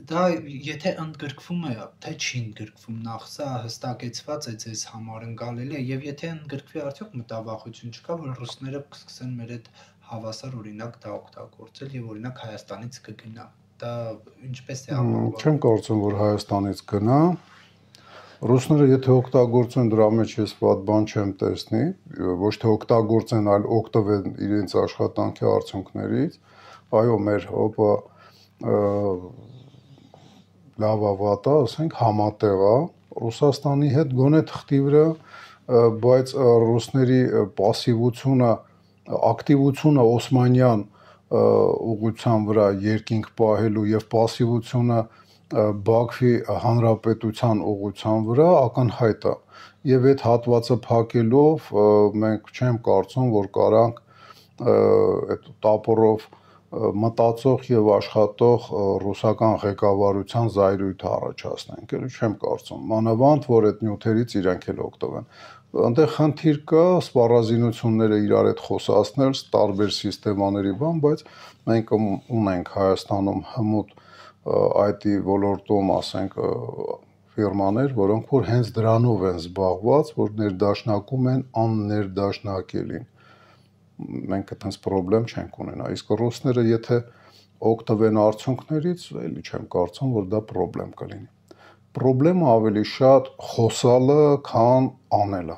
դա եթե ընդգրկվում է, թե չի ընդգրկվում, նախ սա հստակեցված է ձեզ համար ընկալելի է, եւ եթե ընդգրկվի արդյոք մտավախություն չկա, որ ռուսները կսկսեն մեր այդ հավասար օրինակ դա օգտագործել եւ օրինակ Հայաստանից կգնա։ Դա ինչպես է ապահովվում։ Չեմ կարծում, որ Հայաստանից գնա։ Ռուսները եթե օգտագործեն դրա մեջ ես ված բան չեմ տեսնի, ոչ թե օգտագործեն, այլ օգտվեն իրենց աշխատանքի արդյունքներից, այո, մեր հոբը լավա վատա, ասենք համատեղ է Ռուսաստանի հետ գոնե թղթի վրա, բայց ռուսների պասիվությունը, ակտիվությունը Օսմանյան ուղղության վրա երկինք պահելու եւ պասիվությունը Բաքվի հանրապետության ուղղության վրա ակնհայտ է եւ այդ հատվածը փակելով մենք չեմ կարծում, որ կարանք այդ տապորով մտածող եւ աշխատող ռուսական ղեկավարության զայրույթը առաջացնենք, էլի չեմ կարծում, մանավանդ որ այդ նյութերից իրանք էլ օգտվեն։ Այնտեղ խնդիր կա սպառազինությունները իրար հետ խոսացնել, տարբեր սիստեմաների բան, բայց մենք ունենք Հայաստանում հմուտ IT ոլորտում, ասենք, ֆիրմաներ, որոնք որ հենց դրանով են զբաղված, որ ներդաշնակում են աններդաշնակելին։ Մենք այդպես խնդրեմ չենք ունենա։ Իսկ ռուսները եթե օգտվեն արդյունքներից, էլի չեմ կարծում, որ դա խնդրեմ կլինի։ Խնդրեմը ավելի շատ խոսալը, քան անելը։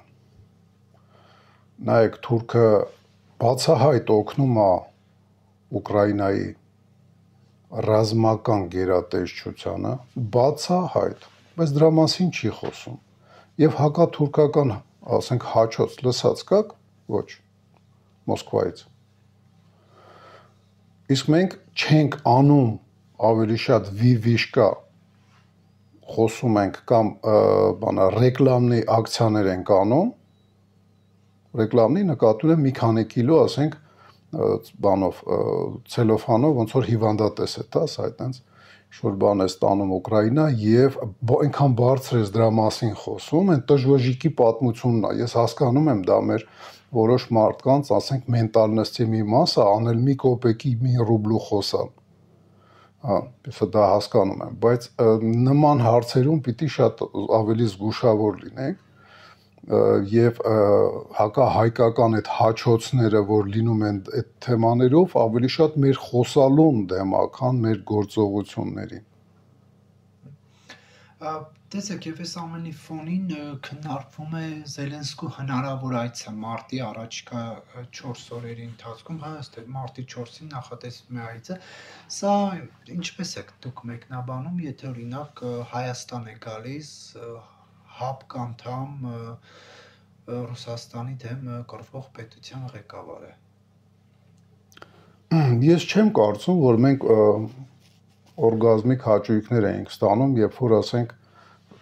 Նայեք, թուրքը բացահայտ օգնում է Ուկրաինայի ռազմական գերատեսչությանը, բացահայտ, բայց դրա մասին չի խոսում։ Եվ հակաթուրքական, ասենք, հաչոց լսած կաք, ոչ, Մոսկվայից։ Իսկ մենք չենք անում ավելի շատ վիվիշկա, խոսում ենք կամ ռեկլամնի ակցիաներ ենք անում, ռեկլամնի նկատում եմ մի քանի կիլո, ասենք, բանով ցելոֆանով ոնց որ հիվանդատես է, տաս այդտենց ինչ-որ բան է ստանում Ուկրաինա եւ այնքան բարձր է դրա մասին խոսում, այն տժվժիկի պատմությունն է։ Ես հասկանում եմ դա մեր որոշ մարդկանց, ասենք, մենտալնստի մի մասը անել մի կոպեկի, մի ռուբլու խոսան։ Ես դա հասկանում եմ, բայց նման հարցերում պիտի շատ ավելի զգուշավոր լինենք եւ հակահայկական այդ հաչոցները, որ լինում են այդ թեմաներով, ավելի շատ մեր խոսալուն դեմ է, քան մեր գործողություններին։ Տեսեք, եւ այս ամենի ֆոնին քննարկվում է Զելենսկու հնարավոր այցը մարտի առաջիկա 4 օրերի ընթացքում, ըստ մարտի 4-ին նախատեսվում է այցը։ Սա ինչպես է դուք մեկնաբանում, եթե օրինակ Հայաստան է գալիս ՀԱՊԿ անդամ Ռուսաստանի դեմ կռվող պետության ղեկավարը։ Ես չեմ կարծում, որ մենք օրգազմիկ հաճույքներ էինք ստանում, երբ որ ասենք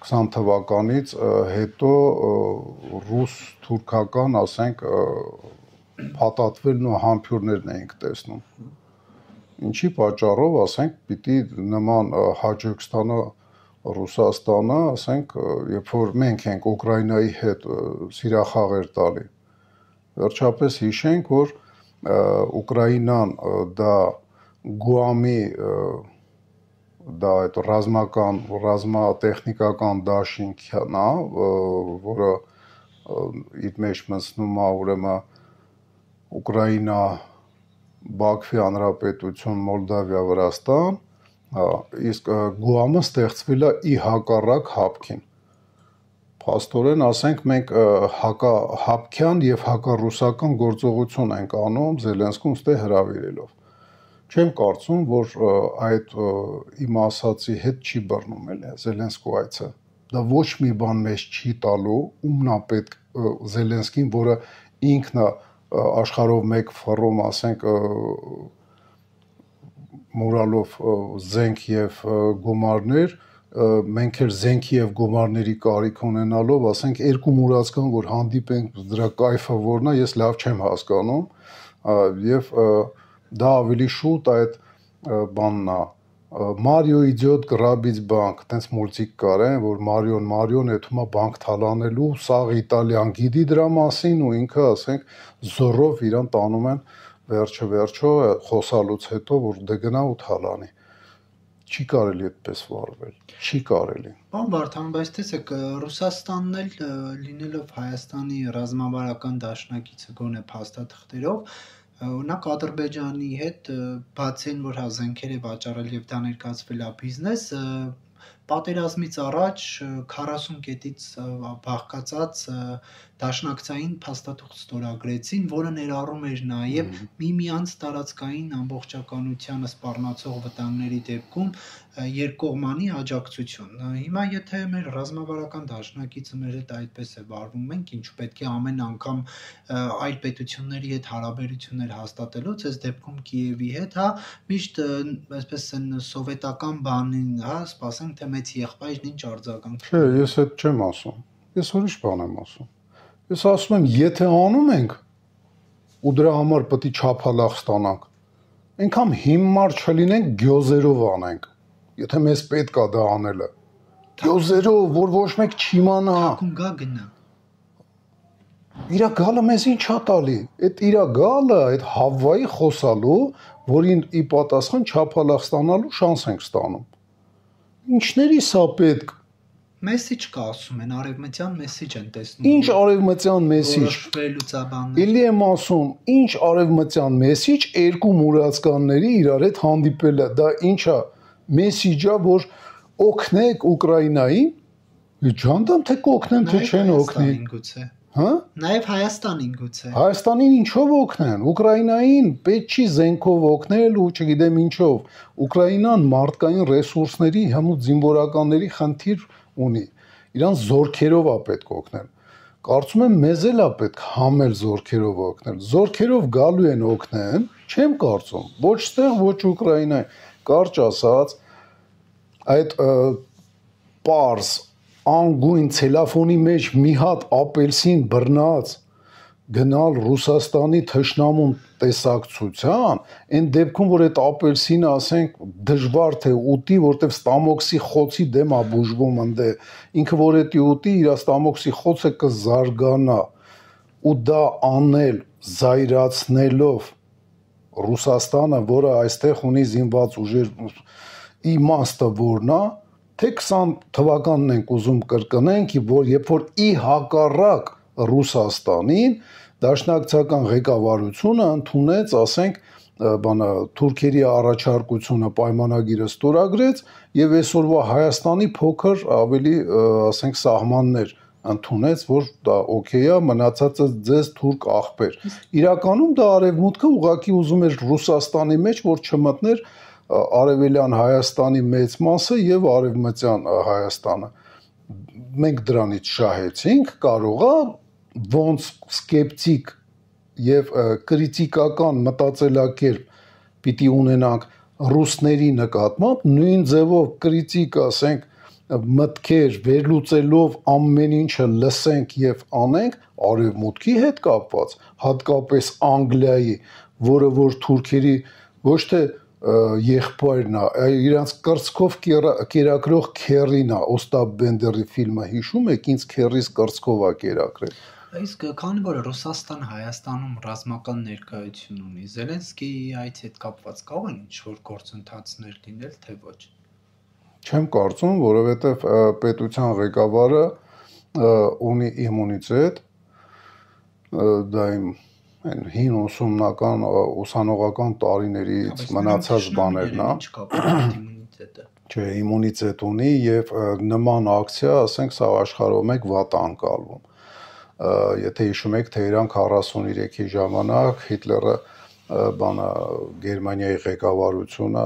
20 թվականից հետո ռուս-թուրքական, ասենք, փաթաթվելն ու համբուրներն էինք տեսնում։ Ինչի պատճառով, ասենք, պիտի նման հաճույք ստանա Ռուսաստանը, ասենք, երբ որ մենք ենք Ուկրաինայի հետ սիրախաղեր տալի։ Վերջապես հիշենք, որ Ուկրաինան դա Գուամի դա այդ ռազմատեխնիկական դաշինքն է, որը իր մեջ մտցնում է ուրեմն Ուկրաինա, Բաքվի Հանրապետություն, Մոլդավիա, Վրաստան, իսկ Գուամը ստեղծվել է ի հակառակ ՀԱՊԿ-ին։ Փաստորեն, ասենք, մենք հակահապկյան եւ հակառուսական գործողություն ենք անում Զելենսկուն ստե հրավիրելով։ Չեմ կարծում, որ այդ իմ ասացի հետ չի բռնում էլի Զելենսկու այցը։ դա ոչ մի բան մեզ չի տալու, ումն է պետք Զելենսկին, որը ինքն է աշխարհով մեկ ֆորում, ասենք մորալով զենք եւ գումարներ, մենք էլ զենքի եւ գումարների կարիք ունենալով, ասենք երկու մուրացկան, որ հանդիպենք, դրա կայֆը որն է, ես լավ չեմ հասկանում, եւ դա ավելի շուտ այդ բանն է Մարիո իդիոտ գրաբից բանկ, տենց մուլտիկ կար, որ Մարիոն էթումա բանկ թալանելու, սաղ Իտալիան գիտի դրա մասին ու ինքը, ասենք, զորով իրան տանում են վերջը խոսալուց հետո, որ դե գնա ու թալանի։ Չի կարելի այդպես վարվել, չի կարելի։ Պարոն Վարդան, բայց տեսեք, Ռուսաստանն էլ լինելով Հայաստանի ռազմավարական դաշնակիցը գոնե փաստաթղթերով, օրինակ Ադրբեջանի հետ բացի այն, որ զենքեր է վաճառել եւ դա ներկայացվել է բիզնես, պատերազմից առաջ 40 կետից բաղկացած դաշնակցային փաստաթուղթ ստորագրեցին, որը ներառում էր նաև միմյանց տարածքային ամբողջականությանը սպառնացող վտանգների դեպքում երկկողմանի աջակցություն։ Հիմա եթե մեր ռազմավարական դաշնակիցը մեր հետ այդպես է վարվում, մենք ինչու պետք է ամեն անգամ այլ պետությունների հետ հարաբերություններ հաստատելուց, այս դեպքում Կիևի հետ, միշտ այսպես են սովետական բանին, սպասենք թե մեծ եղբայրն ինչ արձագանք։ Չէ, ես այդ չեմ ասում։ Ես ուրիշ բան եմ ասում։ Ես ասում եմ, եթե անում ենք ու դրա համար պետք է չափալախ ստանանք, այնքան հիմար չլինենք, գյոզերով անենք։ Եթե մեզ պետք է դա անելը, գյոզերով, որ ոչ մեկ չիմանա։ Թաքուն գա գնա։ Իրա գալը մեզ ինչ է տալի։ Այդ իրա գալը, այդ Հավվայի խոսալու, որին ի պատասխան չափալախ ստանալու շանս ենք ստանում։ Ինչների սա պետք։ Մեսիջ կա ասում են, արևմտյան մեսիջ են տեսնում։ Ինչ արևմտյան մեսիջ։ Էլի եմ ասում, ինչ արևմտյան մեսիջ երկու մուրացկանների իրար հետ հանդիպելը, դա ինչ է, մեսիջա, որ օգնեք Ուկրաինային, ջանդամ թե կօգնեն, թե չեն օգնի։ Հա? Նաև Հայաստանին գուցե։ Հայաստանին ինչով օգնեն, Ուկրաինային պետք չի զենքով օգնել ու չգիտեմ ինչով։ Ուկրաինան մարդկային ռեսուրսների, հմուտ զինվորականների խնդիր ունի, իրան զորքերով է պետք օգնել, կարծում եմ մեզ էլ է պետք համել զորքերով օգնել, զորքերով գալու են օգնեն, չեմ կարծում, ոչ ստեղ, ոչ Ուկրաինայի, կարճ ասած, այդ պարզ, անգույն ցելոֆոնի մեջ մի հատ ապելսին բռնած գնալ Ռուսաստանի թշնամուն տեսակցության, այն դեպքում, որ այդ ապելսինը, ասենք, դժվար թե ուտի, որտեվ ստամոքսի խոցի դեմ է բուժվում ընդե, ինքը որ էդի ուտի, իր ստամոքսի խոցը կզարգանա, ու դա անել զայրացնելով Ռուսաստանը, որը այստեղ ունի զինված ուժեր, իմաստը որն է, թե 20 թվականն ենք ուզում կրկնենք, որ երբ որ ի հակառակ Ռուսաստանին դաշնակցական ղեկավարությունը ընդունեց, ասենք, թուրքերի առաջարկությունը պայմանագիրը ստորագրեց եւ այսօրվա Հայաստանի փոքր ավելի, ասենք, սահմաններ ընդունեց, որ դա օքեյ է, մնացածը ձեզ թուրք աղբեր։ Իրականում դա արևմուտքը ուղղակի ուզում էր Ռուսաստանի մեջ, որ չմտներ Արևելյան Հայաստանի մեծ մասը եւ Արևմտյան Հայաստանը։ Մենք դրանից շահեցինք, կարող է ոնց սկեպտիկ եւ կրիտիկական մտածելակերպ պիտի ունենանք ռուսների նկատմամբ, նույն ձևով կրիտիկ, ասենք, մտքեր վերլուծելով ամեն ինչը լսենք եւ անենք արևմուտքի հետ կապված, հատկապես Անգլիայի, որը որ թուրքերի ոչ թե եղբայրն է, իրանց կրծքով կերակրող քերին է, Օստապ Բենդերի ֆիլմը հիշում եք, ինձ քերիս կրծքով է կերակրել։ Իսկ քանի որ Ռուսաստան Հայաստանում ռազմական ներկայություն ունի, Զելենսկիի այդ հետ կապված կարող են ինչ-որ գործընթացներ լինել, թե ոչ։ Չեմ կարծում, որովհետև պետության ղեկավարը ունի իմունիտետ, դա իմ հին ուսումնական ուսանողական տարիներից մնացած բաներն է։ Ինչ կապ ունի իմունիտետը։ Չէ, իմունիտետ ունի եւ նման ակցիա, ասենք, սա աշխարհով մեկ վատ անկալվում։ Եթե հիշում եք, Թեհրան 43-ի ժամանակ Հիտլերը Գերմանիայի ղեկավարությունը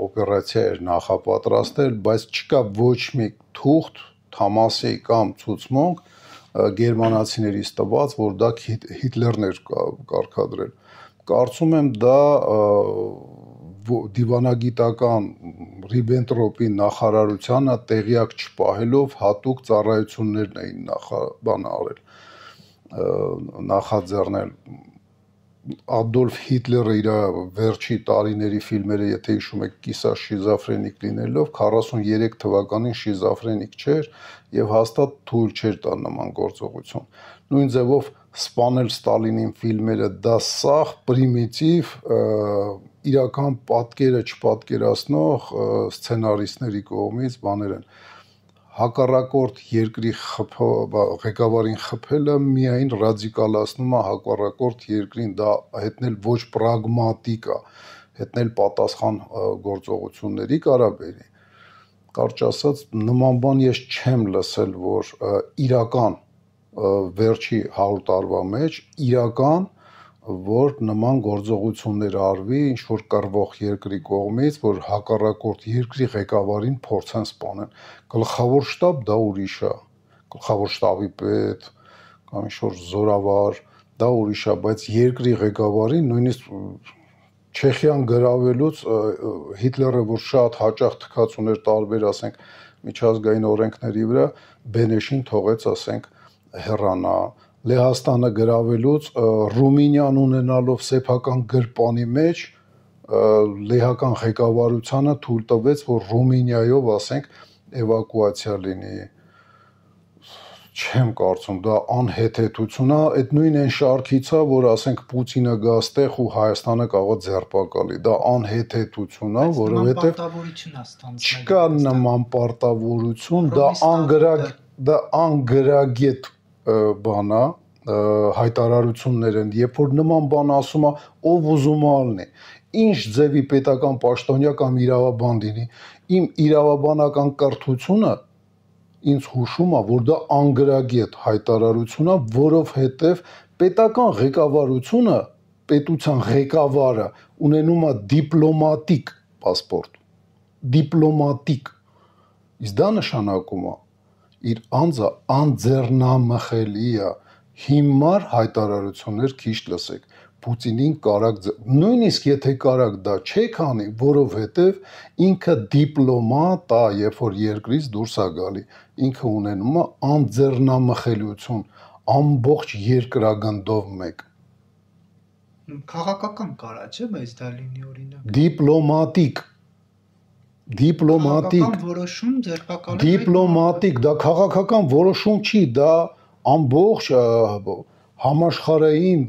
օպերացիա էր նախապատրաստել, բայց չկա ոչ մի թուղթ թամասի կամ ցուցմունք գերմանացիներից տված, որ դա Հիտլերն էր կարգադրել։ Կարծում եմ դա դիվանագիտական Ռիբենտրոպի նախարարությանը տեղյակ չպահելով հատուկ ծառայություններն էին նախաձեռնել։ Ադոլֆ Հիտլերը իր վերջի տարիների ֆիլմերը, եթե հիշում եք, կիսա շիզոֆրենիկ լինելով 43 թվականին շիզոֆրենիկ չէր եւ հաստատ թույլ չէր տա նման գործողություն։ Նույն ձևով սպանել Ստալինին ֆիլմերը դա սաղ պրիմիտիվ իրական պատկերը չպատկերացնող սցենարիստների կողմից բաներ են։ Հակառակորդ երկրի ղեկավարին խփելը միայն ռադիկալացնում է հակառակորդ երկրին, դա հետնել ոչ պրագմատիկ է, հետնել պատասխան գործողությունների կարաբերի։ Կարճ ասած, նման բան ես չեմ լսել, որ իրական վերջի 100 տարվա մեջ իրական որ նման գործողություններ արվի ինչ որ կռվող երկրի կողմից, որ հակառակորդ երկրի ղեկավարին փորձեն սպանել։ Գլխավոր շտաբ դա ուրիշ է, գլխավոր շտաբի պետ կամ ինչ որ զորավար դա ուրիշ է, բայց երկրի ղեկավարին նույնիսկ Չեխիան գրավելուց Հիտլերը որ շատ հաճախ թքած ուներ տարբեր, ասենք, միջազգային օրենքների վրա, Բենեշին թողեց, ասենք, հեռանա։ Լեհաստանը գրավելուց Ռումինիան ունենալով սեփական գրպանի մեջ լեհական ղեկավարությանը թույլ տվեց, որ Ռումինիայով, ասենք, էվակուացիա լինի։ Չեմ կարծում, դա անհեթեթություն է, այդ նույն այն շարքից է, որ ասենք Պուտինը գա ստեղ ու Հայաստանը կարող է ձերբակալի։ Դա անհեթեթություն է, որովհետև չկա նման պարտավորություն, դա անգրագետ բան է, հայտարարություններ են, երբ որ նման բան ասում է, ով ուզում է ալնի, ինչ ձևի պետական պաշտոնյա կամ իրավաբան լինի, իմ իրավաբանական կրթությունը ինձ հուշում է, որ դա անգրագետ հայտարարություն է, որովհետև պետական ղեկավարությունը, պետության ղեկավարը ունենում է դիպլոմատիկ պասպորտ, դիպլոմատիկ, իսկ դա նշանակում է իր անձը անձեռնամխելի է, հիմար հայտարարություններ քիչ լսեք, Պուտինին կարակ, նույնիսկ եթե կարակ դա չեք անի, որովհետև ինքը դիպլոմատ է, երբ որ երկրից դուրս է գալի, ինքը ունենում է անձեռնամխելիություն, ամբողջ երկրագնդով մեկ։ Քաղաքական կարա, չէ, բայց դա լինի օրինակ։ Դիպլոմատիկ որոշում ձերբակալել։ Դիպլոմատիկ, դա քաղաքական որոշում չի, դա ամբողջ համաշխարհային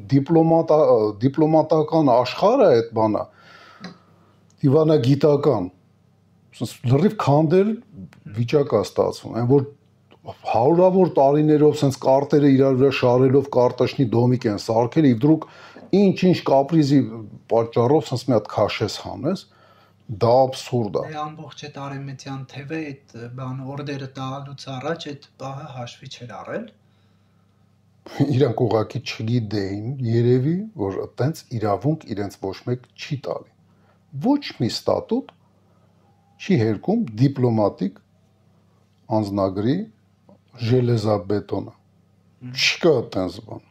դիպլոմատական աշխարհը այդ բանը դիվանագիտական լրիվ քանդել վիճակ է ստացվում, այն որ հարյուրավոր տարիներով sense կարտերը իրար վրա շարելով կարտաշնի դոմիկ են սարքել, եւ դրուկ ինչ կապրիզի պատճառով sense մի հատ քաշես հանես, դա աբսուրդ է։ Ամբողջ այդ արեմետյան թևը այդ բան օրդերը տալուց առաջ այդ բանը հաշվի չէր առել։ Իրանք ուղղակի չգիտեին, երևի, որ այտենց իրավունք իրենց ոչ մեկ չի տալի։ Ոչ մի ստատուտ չի հերքում դիպլոմատիկ անձնագրի ժելեզաբետոնը։ Չկա այտենց բան։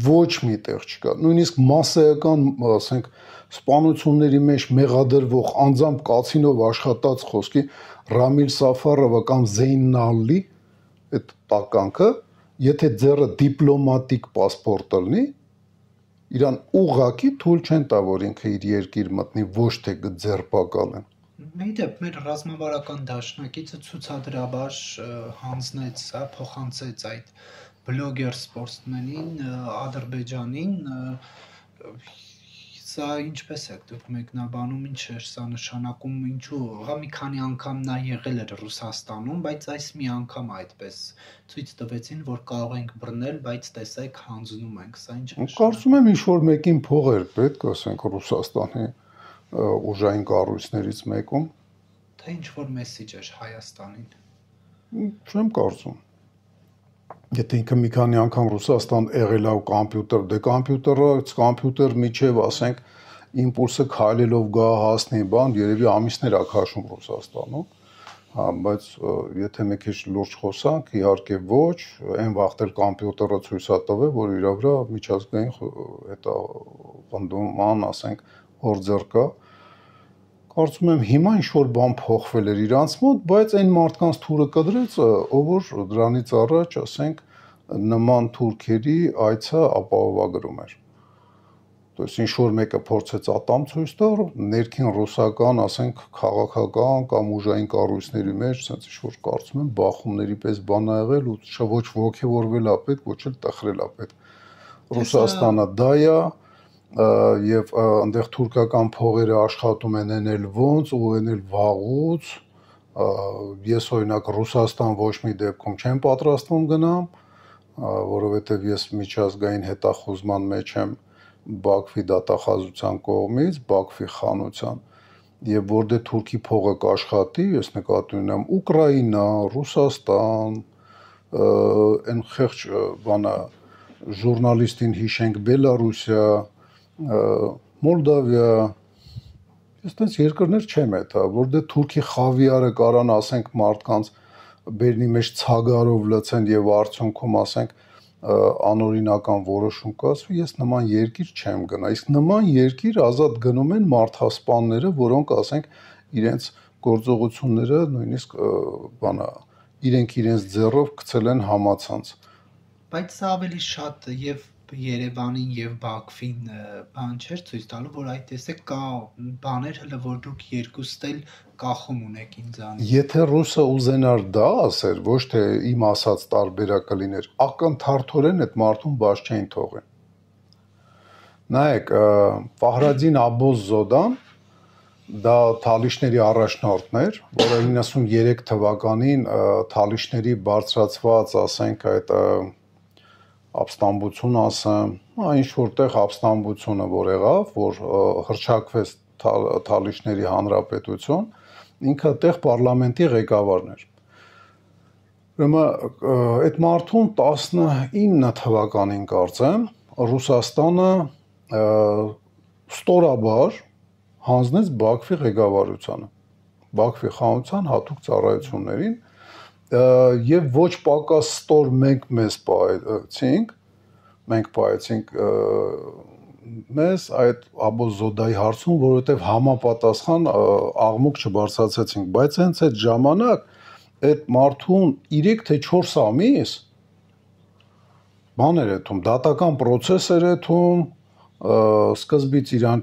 Ոչ մի տեղ չկա։ Նույնիսկ մասսայական, ասենք, սպանությունների մեջ մեղադրվող անձամբ կացինով աշխատած խոսքի Ռամիլ Սաֆարովը կամ Զեյնալի այդ տականքը, եթե ձեռը դիպլոմատիկ պասպորտ լինի, իրան ուղղակի թույլ չեն տա, որ ինքը իր երկիր մտնի, ոչ թե ձերբակալեն։ Մեդեպ մեր ռազմավարական դաշնակիցը ցուցադրաբար հանձնեց, փոխանցեց այդ բլոգեր սպորտսմենին Ադրբեջանին, սա ինչպես է դուք մեկնաբանում, ինչ է սա նշանակում, ինչու, հա մի քանի անգամ նա եղել էր Ռուսաստանում, բայց այս մի անգամ այդպես ցույց տվեցին, որ կարող ենք բռնել, բայց տեսեք հանձնում ենք, սա ինչ է։ Կարծում եմ ինչ որ մեկին փող էր պետք, ասենք Ռուսաստանի ուժային կառույցներից մեկում, թե ինչ որ մեսիջ էր Հայաստանին։ Չեմ կարծում։ Եթե ինքը մի քանի անգամ Ռուսաստան եղել է կոմպյուտեր, դե կոմպյուտեր միջև, ասենք, impulse քայլելով գա հասնի բան, երևի ամիսներ է քաշում Ռուսաստանում, Հա, բայց եթե մի քիչ լուրջ խոսանք, իհարկե ոչ, այն վաղտել կոմպյուտերը ցույց է տվել, որ իր վրա միջազգային հետա բնդուման, ասենք, հորձեր կա։ Կարծում եմ հիմա ինչ որ բան փոխվել էր իրանց մոտ, բայց այն մարդկանց թուրը կդրեց, ով որ դրանից առաջ, ասենք, նման թուրքերի այցը ապահովագրում էր։ То есть ինչ որ մեկը փորձեց ատամ ցույց տալ, ներքին ռուսական, ասենք, քաղաքական կամ ուժային կառույցների մեջ, ասենց ինչ որ կարծում եմ բախումների պես բան ա եղել ու ոչ ողջևորվել է պետք, ոչ էլ տխրել է պետք։ Ռուսաստանը դա է եւ այնտեղ թուրքական փողերը աշխատում են էնել ոնց ու էնել վաղուց։ Ես օրինակ Ռուսաստան ոչ մի դեպքում չեմ պատրաստվում գնամ, որովհետեւ ես միջազգային հետախուզման մեջ եմ Բաքվի դատախազության կողմից, Բաքվի խանության եւ որտեղ թուրքի փողը կաշխատի, ես նկատի ունեմ Ուկրաինա, Ռուսաստան, այն խեղճ բանը ժուրնալիստին հիշենք Բելարուսիա, Մոլդավիա, ես տես երկրներ չեմ էթա, որտեղ թուրքի խավիարը կարան, ասենք, մարդկանց բերնի մեջ ցագարով լցեն եւ արդյունքում, ասենք, անօրինական որոշում կայացվի, ես նման երկիր չեմ գնա։ Իսկ նման երկիր ազատ գնում են մարդասպանները, որոնք, ասենք, իրենց գործողությունները նույնիսկ բանա, իրենց ձեռով գցել են համացանց։ Բայց սա ավելի շատ եւ Երևանին եւ Բաքվին բան չէր ցույց տալու, որ այդ տեսեք կա բաներ հələ որ դուք երկուստ էլ կախում ունեք ինձանից։ Եթե ռուսը ուզենար դա ասեր, ոչ թե իմ ասած տարբերակը լիներ, ակնթարթորեն այդ մարդուն բաց չէին թողեն։ Նայեք, Ֆահրադին Աբոզզոդան դա Թալիշների առաջնորդն էր, որը 93 թվականին Թալիշների բարձրացված, ասենք, այդ ապստամբություն ասեմ, ինչ որտեղ ապստամբությունը որ եղավ, որ հրճակվեց Թալիշների հանրապետություն, ինքը այդտեղ պարլամենտի ղեկավարն էր։ Ուրեմն այդ մարդուն 19 թվականին կարծեմ Ռուսաստանը ստորաբար հանձնեց Բաքվի ղեկավարությանը, Բաքվի խանության հատուկ ծառայություններին եւ ոչ պակաս ստոր մենք պայեցինք մեզ այդ Աբոզոդայի հարցում, որովհետեւ համապատասխան աղմուկ չբարձրացեցինք, բայց հենց այդ ժամանակ այդ մարդուն 3 թե 4 ամիս բաներ է թում, դատական process էր թում, սկզբից իրան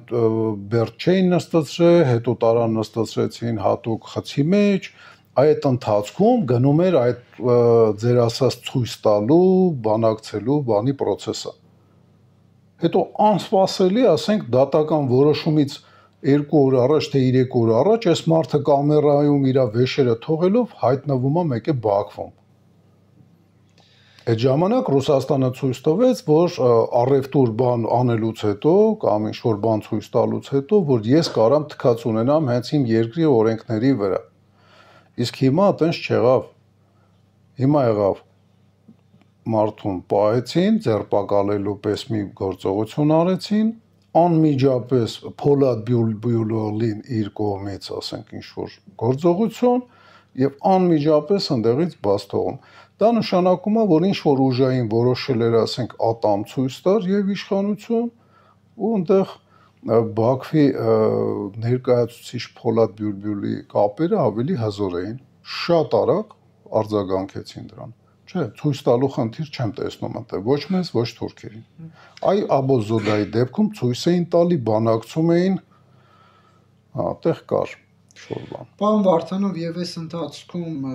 բերդ չէին նստեցրել, հետո տարան նստեցրեցին հատուկ խցի մեջ, այդ ընթացքում գնում էր այդ ձեր ասած ցույց տալու, բանակցելու բանի process-ը։ Հետո անսպասելի, ասենք, դատական որոշումից 2 օր առաջ թե 3 օր առաջ այս մարդը կամերայում իր վեշերը թողելով հայտնվում է մեկ է Բաքվում։ Այդ ժամանակ Ռուսաստանը ցույց տվեց, որ առևտուր բան անելուց հետո կամ ինչ-որ բան ցույց տալուց հետո, որ ես կարամ թքած ունենամ հենց իմ երկրի օրենքների վրա։ Իսկ հիմա այտենց չեղավ։ Հիմա եղավ մարդուն պահեցին, ձերբակալելու պես մի գործողություն արեցին, անմիջապես Փոլադ Բյուլոլին իր կողմից, ասենք, ինչ-որ գործողություն եւ անմիջապես ընդեղից բաց թողում։ Դա նշանակում է, որ ինչ-որ ուժային որոշել էր, ասենք, ատամ ցույց տար եւ իշխանություն ու այնտեղ Բաքվի ներկայացուցիչ Փոլադ Բյուլբյուլի կապերը ավելի հզոր էին, շատ արագ արձագանքեցին դրան։ Չէ, ցույց տալու խնդիր չեմ տեսնում այնտեղ, ոչ մեզ, ոչ թուրքերին։ Այ Աբոզոդայի դեպքում ցույց էին տալի, բանակցում էին, այդտեղ կար շոր բան։ Պարոն Վարդանով, եւ այս ընթացքում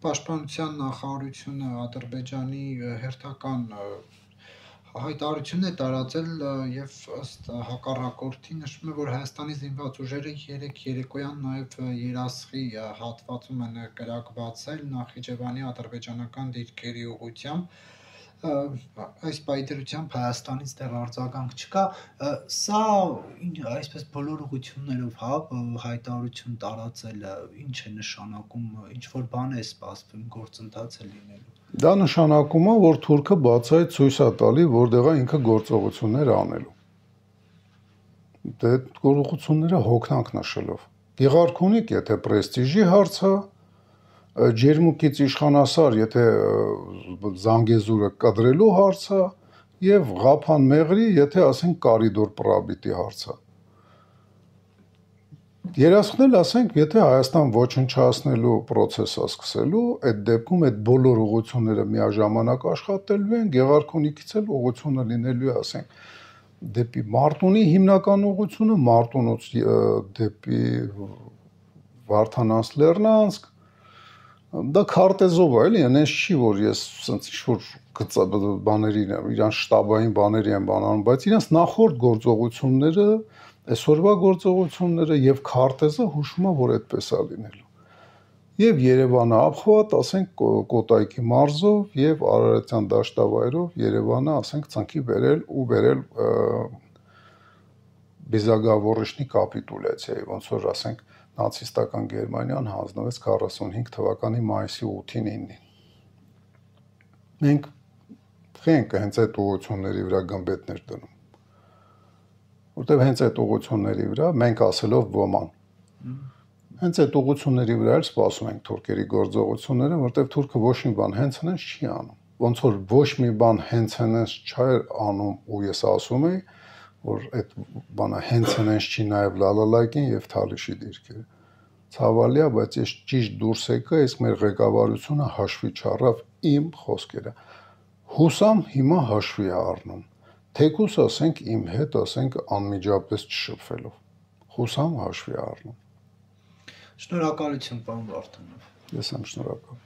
Պաշտպանության նախարարությունը Ադրբեջանի հերթական հայտարարություն է տարածել եւ ըստ հակառակորդի նշվում է, որ Հայաստանի զինված ուժերը երեկոյան նաեւ Երասխի հատվածում են կրակվածել Նախիջևանի ադրբեջանական դիրքերի ուղղությամբ, այս պայթերությամբ Հայաստանից դեռ արձագանք չկա, սա այսպես բոլոր ուղղություններով, հա, հայտարարություն տարածելը ինչ է նշանակում, ինչ որ բան է սպասվում, գործընթաց է լինելու։ Դա նշանակում է, որ թուրքը բացահայտ ցույց է տալի, որտեղ է ինքը գործողություններ անելու։ Դե գործողությունները հոգնանք նշելով։ Գեղարքունիք, եթե պրեստիժի հարց է, ջերմուկից իշխանասար, եթե Զանգեզուրը կադրելու հարցը եւ Ղափան Մեղրի, եթե ասենք Կարիդոր պրաբիտի հարցը։ Երասխնել ասենք, եթե Հայաստան ոչնչացնելու process-ը սկսելու, այդ դեպքում այդ բոլոր ուղղությունները միաժամանակ աշխատելու են, Գեղարքունիքից էլ ուղղությունը լինելու է, ասենք, դեպի Մարտունի հիմնական ուղղությունը, Մարտունուց դեպի Վարդանանց Լեռնանցք, դա քարտեզով է, էլի, այնպես չի, որ ես ասենց ինչ-որ բաների, իրանց շտաբային բաների են բանանում, բայց իրանց նախորդ գործողությունները, այսօրվա գործողությունները եւ քարտեզը հուշում է, որ այդպես է լինելու։ Եվ Երևանը ապխված, ասենք, Կոտայքի մարզով եւ Արարատյան դաշտավայրով Երևանը, ասենք, ցանկի բերել ու բերել Բիզագավորիշնի կապիտուլյացիայի, ոնց որ, ասենք, նացիստական Գերմանիան հանձնվեց 45 թվականի մայիսի 8-ին 9-ին։ Մենք խենք հենց այդ ուղղությունների վրա գմբեթներ դնում։ Որտեւ հենց այդ ուղղությունների վրա մենք ասելով ոման։ Հենց այդ ուղղությունների վրա էլ սպասում ենք թուրքերի գործողությունները, որտեւ թուրքը ոչ մի բան հենց հենց չի անում։ Ոնց որ ոչ մի բան հենց հենց չէր անում, ու ես ասում եի, որ այդ բանը հենց հենց չի նաև Լալալայկին եւ Թալիշի դիրքերը։ Ցավալի է, բայց ես ճիշտ դուրս եկա, իսկ մեր ղեկավարությունը հաշվի չառավ իմ խոսքերը։ Հուսամ հիմա հաշվի է առնում։ Թեկուս ասենք իմ հետ, ասենք անմիջապես չշփվելով։ Հուսամ հաշվի է առնում։ Շնորհակալություն, պարոն Վարդանով։ Ես եմ շնորհակալ։